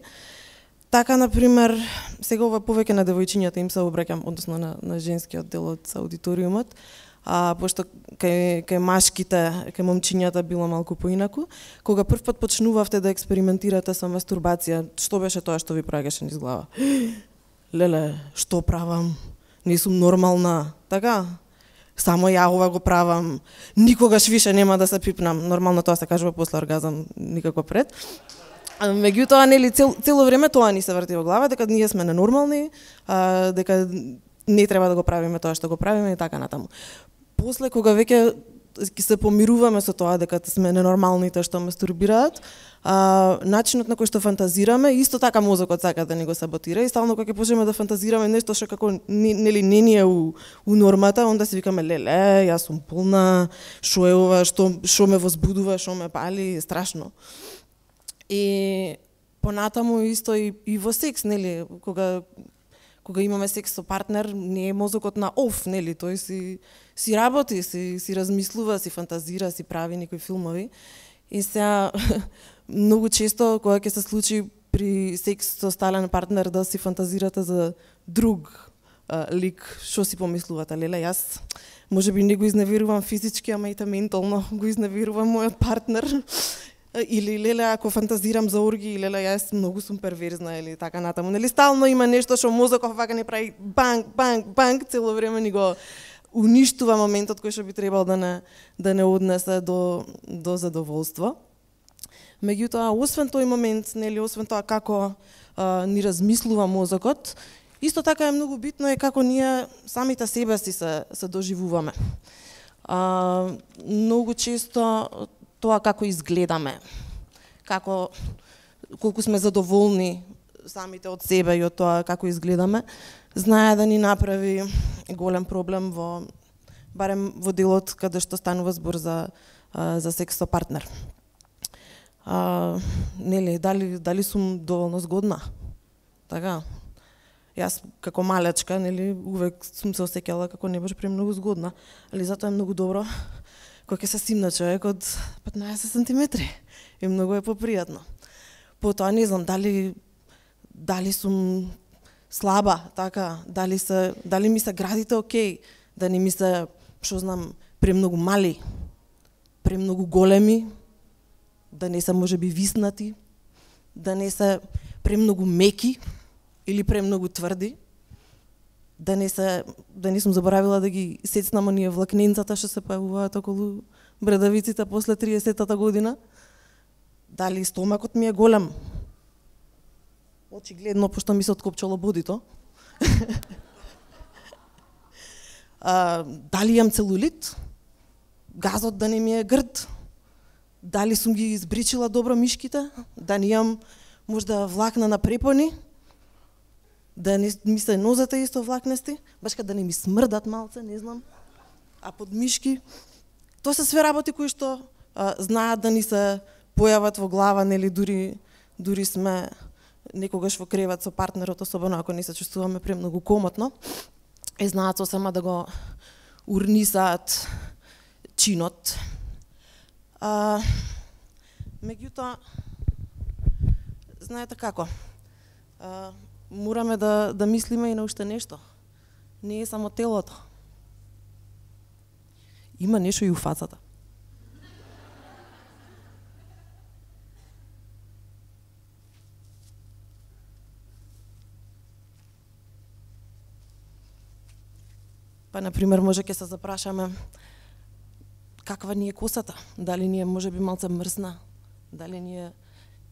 Така, например, сега ова повеќе на девојчињата им се обраќам, односно на, на женскиот дел од аудиториумот, а пошто кај, кај машките, кај момчињата било малку поинаку. Кога првпат почнувавте да експериментирате со мастурбација, што беше тоа што ви праќаше низ глава? Леле, што правам? Не сум нормална, така? Само ја ова го правам, никогаш више нема да се пипнам. Нормално тоа се кажува после оргазам, никако пред. Меѓутоа, нели, цел, цело време тоа ни се врти во глава, дека ние сме ненормални, а, дека не треба да го правиме тоа што го правиме и така натаму. После, кога веќе се помируваме со тоа дека сме ненормалните што мастурбираат, а, начинот на кој што фантазираме, исто така мозокот сака да ни го саботира и стално кога ќе почнеме да фантазираме нешто што како нели не ни е у, у нормата, онда си викаме леле, јас сум полна, што е ова, што што ме возбудува, што ме пали, страшно. И понатаму исто и, и во секс, нели, кога кога имаме секс со партнер, не е мозокот на оф, нели, тој си си работи, си си размислува, си фантазира, си прави некои филмови. И сега многу често кога ќе се случи при секс со стален партнер да си фантазирате за друг а, лик, што си помислувате, леле, јас можеби не го изневерувам физички, ама и ментално го изневерувам мојот партнер. Или леле, ако фантазирам за орги, леле, јас многу сум перверзна или така натаму. Нели стално има нешто што мозокот вака не прави банк, банк, банк, цело време ни го уништува моментот кој што би требал да не да не однесе до до задоволство. Меѓутоа, освен тој момент, нели, освен тоа како а, ни размислува мозокот, исто така е многу битно е како ние самите себе си се се доживуваме. А, многу често тоа како изгледаме, како колку сме задоволни самите од себе и од тоа како изгледаме, знае да ни направи голем проблем во барем во делот каде што станува збор за за секс со партнер. А, нели, дали дали сум доволно згодна? Така. Јас како малечка, нели, увек сум се осеќала како не беше премногу згодна, али затоа е многу добро кога ќе се симна човек од петнаесет сантиметри и многу е попријатно. Потоа не знам дали дали сум слаба, така, дали се дали ми се градите окей, да не ми се, што знам, премногу мали, премногу големи, да не се можеби виснати, да не се премногу меки или премногу тврди, да не се да не сум заборавила да ги сецнам оние влакненцата што се појавуваат околу брадавиците после триесеттата година. Дали стомакот ми е голем? Очигледно, пошто ми се откопчало бодито. а, дали имам целулит? Газот да не ми е грд? Дали сум ги избричила добро мишките? Да не имам можда влакна на препони? Да не ми се нозете исто влакнести, баш да не ми смрдат малце, не знам, а под мишки. Тоа се све работи кои што а, знаат да ни се појават во глава, нели, дури, дури сме некогаш во кревет со партнерот, особено ако не се чувствуваме премногу комотно, и знаат сосема да го урнисаат чинот. А, меѓутоа, знаете како, а, мораме да, да мислиме и на уште нешто. Не е само телото. Има нешто и у фацата. Па, например, може ќе се запрашаме каква ни е косата, дали ни е можеби малце мрсна, дали ни е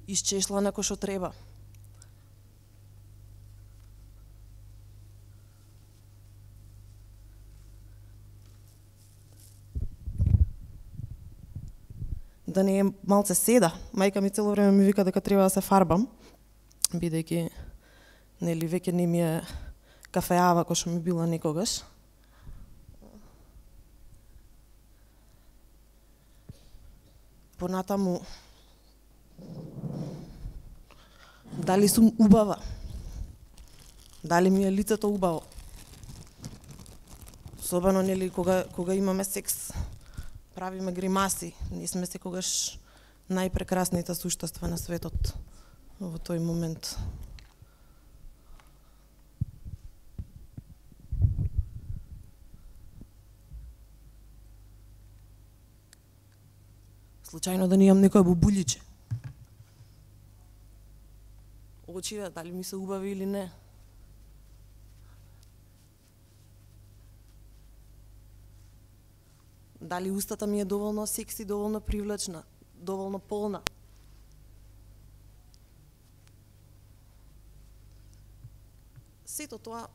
исчешлана кој што треба. Да не е малце седа. Мајка ми цело време ми вика дека треба да се фарбам, бидејќи нели веќе не ми е кафеава кој што ми била некогаш. Понатаму, дали сум убава? Дали ми е лицето убаво? Особено нели кога кога имаме секс, правиме гримаси, не сме секогаш најпрекрасните суштества на светот во тој момент. Случајно да не имам некоја бубуличе. Очите, дали ми се убави или не. Дали устата ми е доволно секси, доволно привлечна, доволно полна. Сето тоа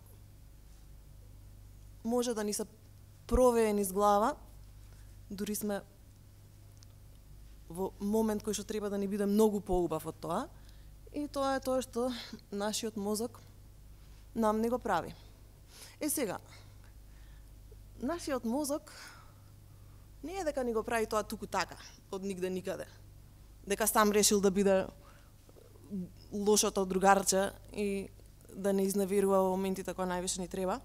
може да ни се провее низ глава, дури сме во момент кој што треба да ни биде многу поубав од тоа, и тоа е тоа што нашиот мозок нам не го прави. Е сега, нашиот мозок не е дека ни го прави тоа туку така, од нигде никаде. Дека сам решил да биде лошото другарче и да не изневерува во моментите кога највише ни треба.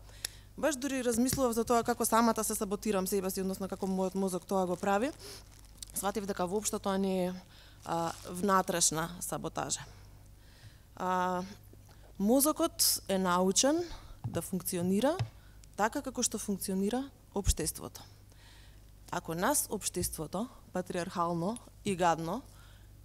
Баш дури размислував за тоа како самата се саботирам себе си, односно како мојот мозок тоа го прави. Сватив дека воопшто тоа не е а, внатрешна саботажа. А, мозокот е научен да функционира така како што функционира општеството. Ако нас општеството, патриархално и гадно,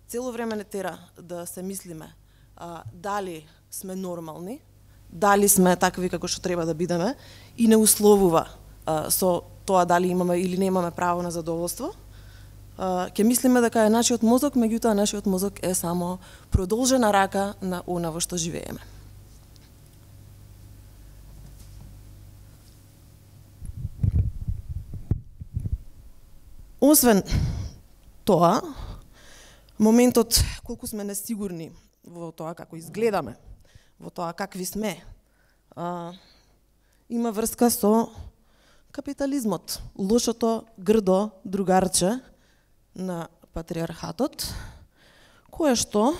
цело време не тера да се мислиме а, дали сме нормални, дали сме такви како што треба да бидеме, и не условува а, со тоа дали имаме или не имаме право на задоволство, а, ќе мислиме дека е нашиот мозок, меѓутоа нашиот мозок е само продолжена рака на она во што живееме. Освен тоа, моментот колку сме несигурни во тоа како изгледаме, во тоа какви сме, а, има врска со капитализмот, лошото грдо другарче на патриархатот, кое што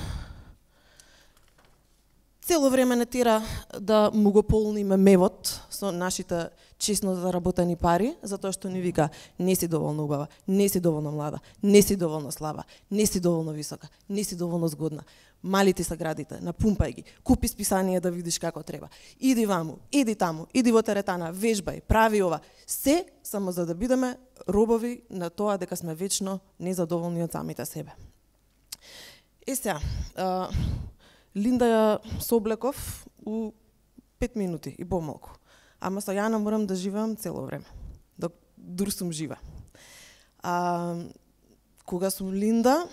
цело време не тера да му го полниме мевот со нашите честно заработени пари, затоа што ни вика не си доволно убава, не си доволно млада, не си доволно слаба, не си доволно висока, не си доволно згодна. Мали ти са градите, напумпај ги, купи списание да видиш како треба. Иди ваму, иди таму, иди во теретана, вежбај, прави ова. Се само за да бидеме робови на тоа дека сме вечно незадоволни од самите себе. Е сега, а, Линда ја соблеков у пет минути и помалку. Ама со Јана морам да живеам цело време, док дур сум жива. А, кога сум Линда,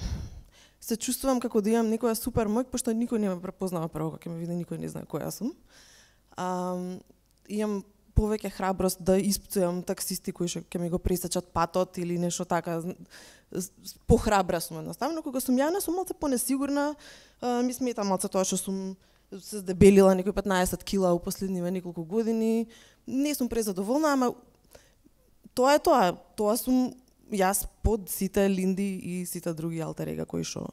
се чувствувам како да имам некоја супер моќ, пошто никој не ме препознава прво, кога ќе ме види, никој не знае која сум. А, имам повеќе храброст да испуцувам таксисти кои ќе ми го пресечат патот или нешто така. Похрабра сум едноставно. Кога сум Јана, сум малце понесигурна, а, ми смета малце тоа што сум се здебелила некои петнаесет кила у последниве неколку години. Не сум презадоволна, ама тоа е тоа. Тоа сум јас под сите Линди и сите други алтерега кои што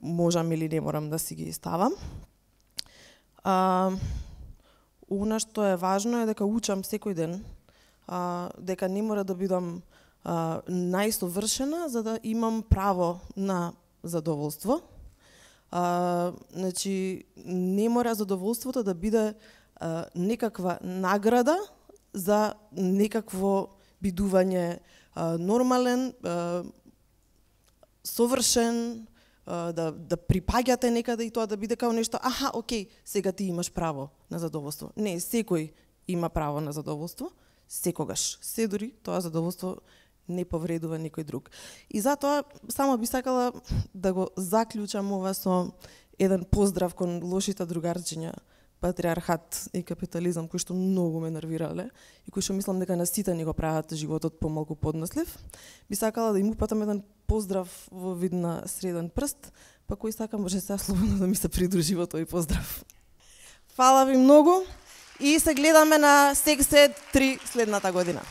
можам или не морам да си ги ставам. А, Она што е важно е дека учам секој ден, а, дека не мора да бидам а, најсовршена за да имам право на задоволство. А, значи, не мора задоволството да биде а, некаква награда за некакво бидување а, нормален, а, совршен, а, да, да припаѓате некаде и тоа да биде као нешто, аха, окей, сега ти имаш право на задоволство. Не, секој има право на задоволство, секогаш. Се дури тоа задоволство не повредува никој друг. И затоа само би сакала да го заклучам ова со еден поздрав кон лошите другарчиња, патриархат и капитализам, кои што многу ме нервирале и кои што мислам дека на сите ни го прават животот помалку поднослив. Би сакала да им упатам еден поздрав во вид на среден прст, па кој сака може се слободно да ми се придружи во тој поздрав. Фала ви многу и се гледаме на Секс Ед три следната година.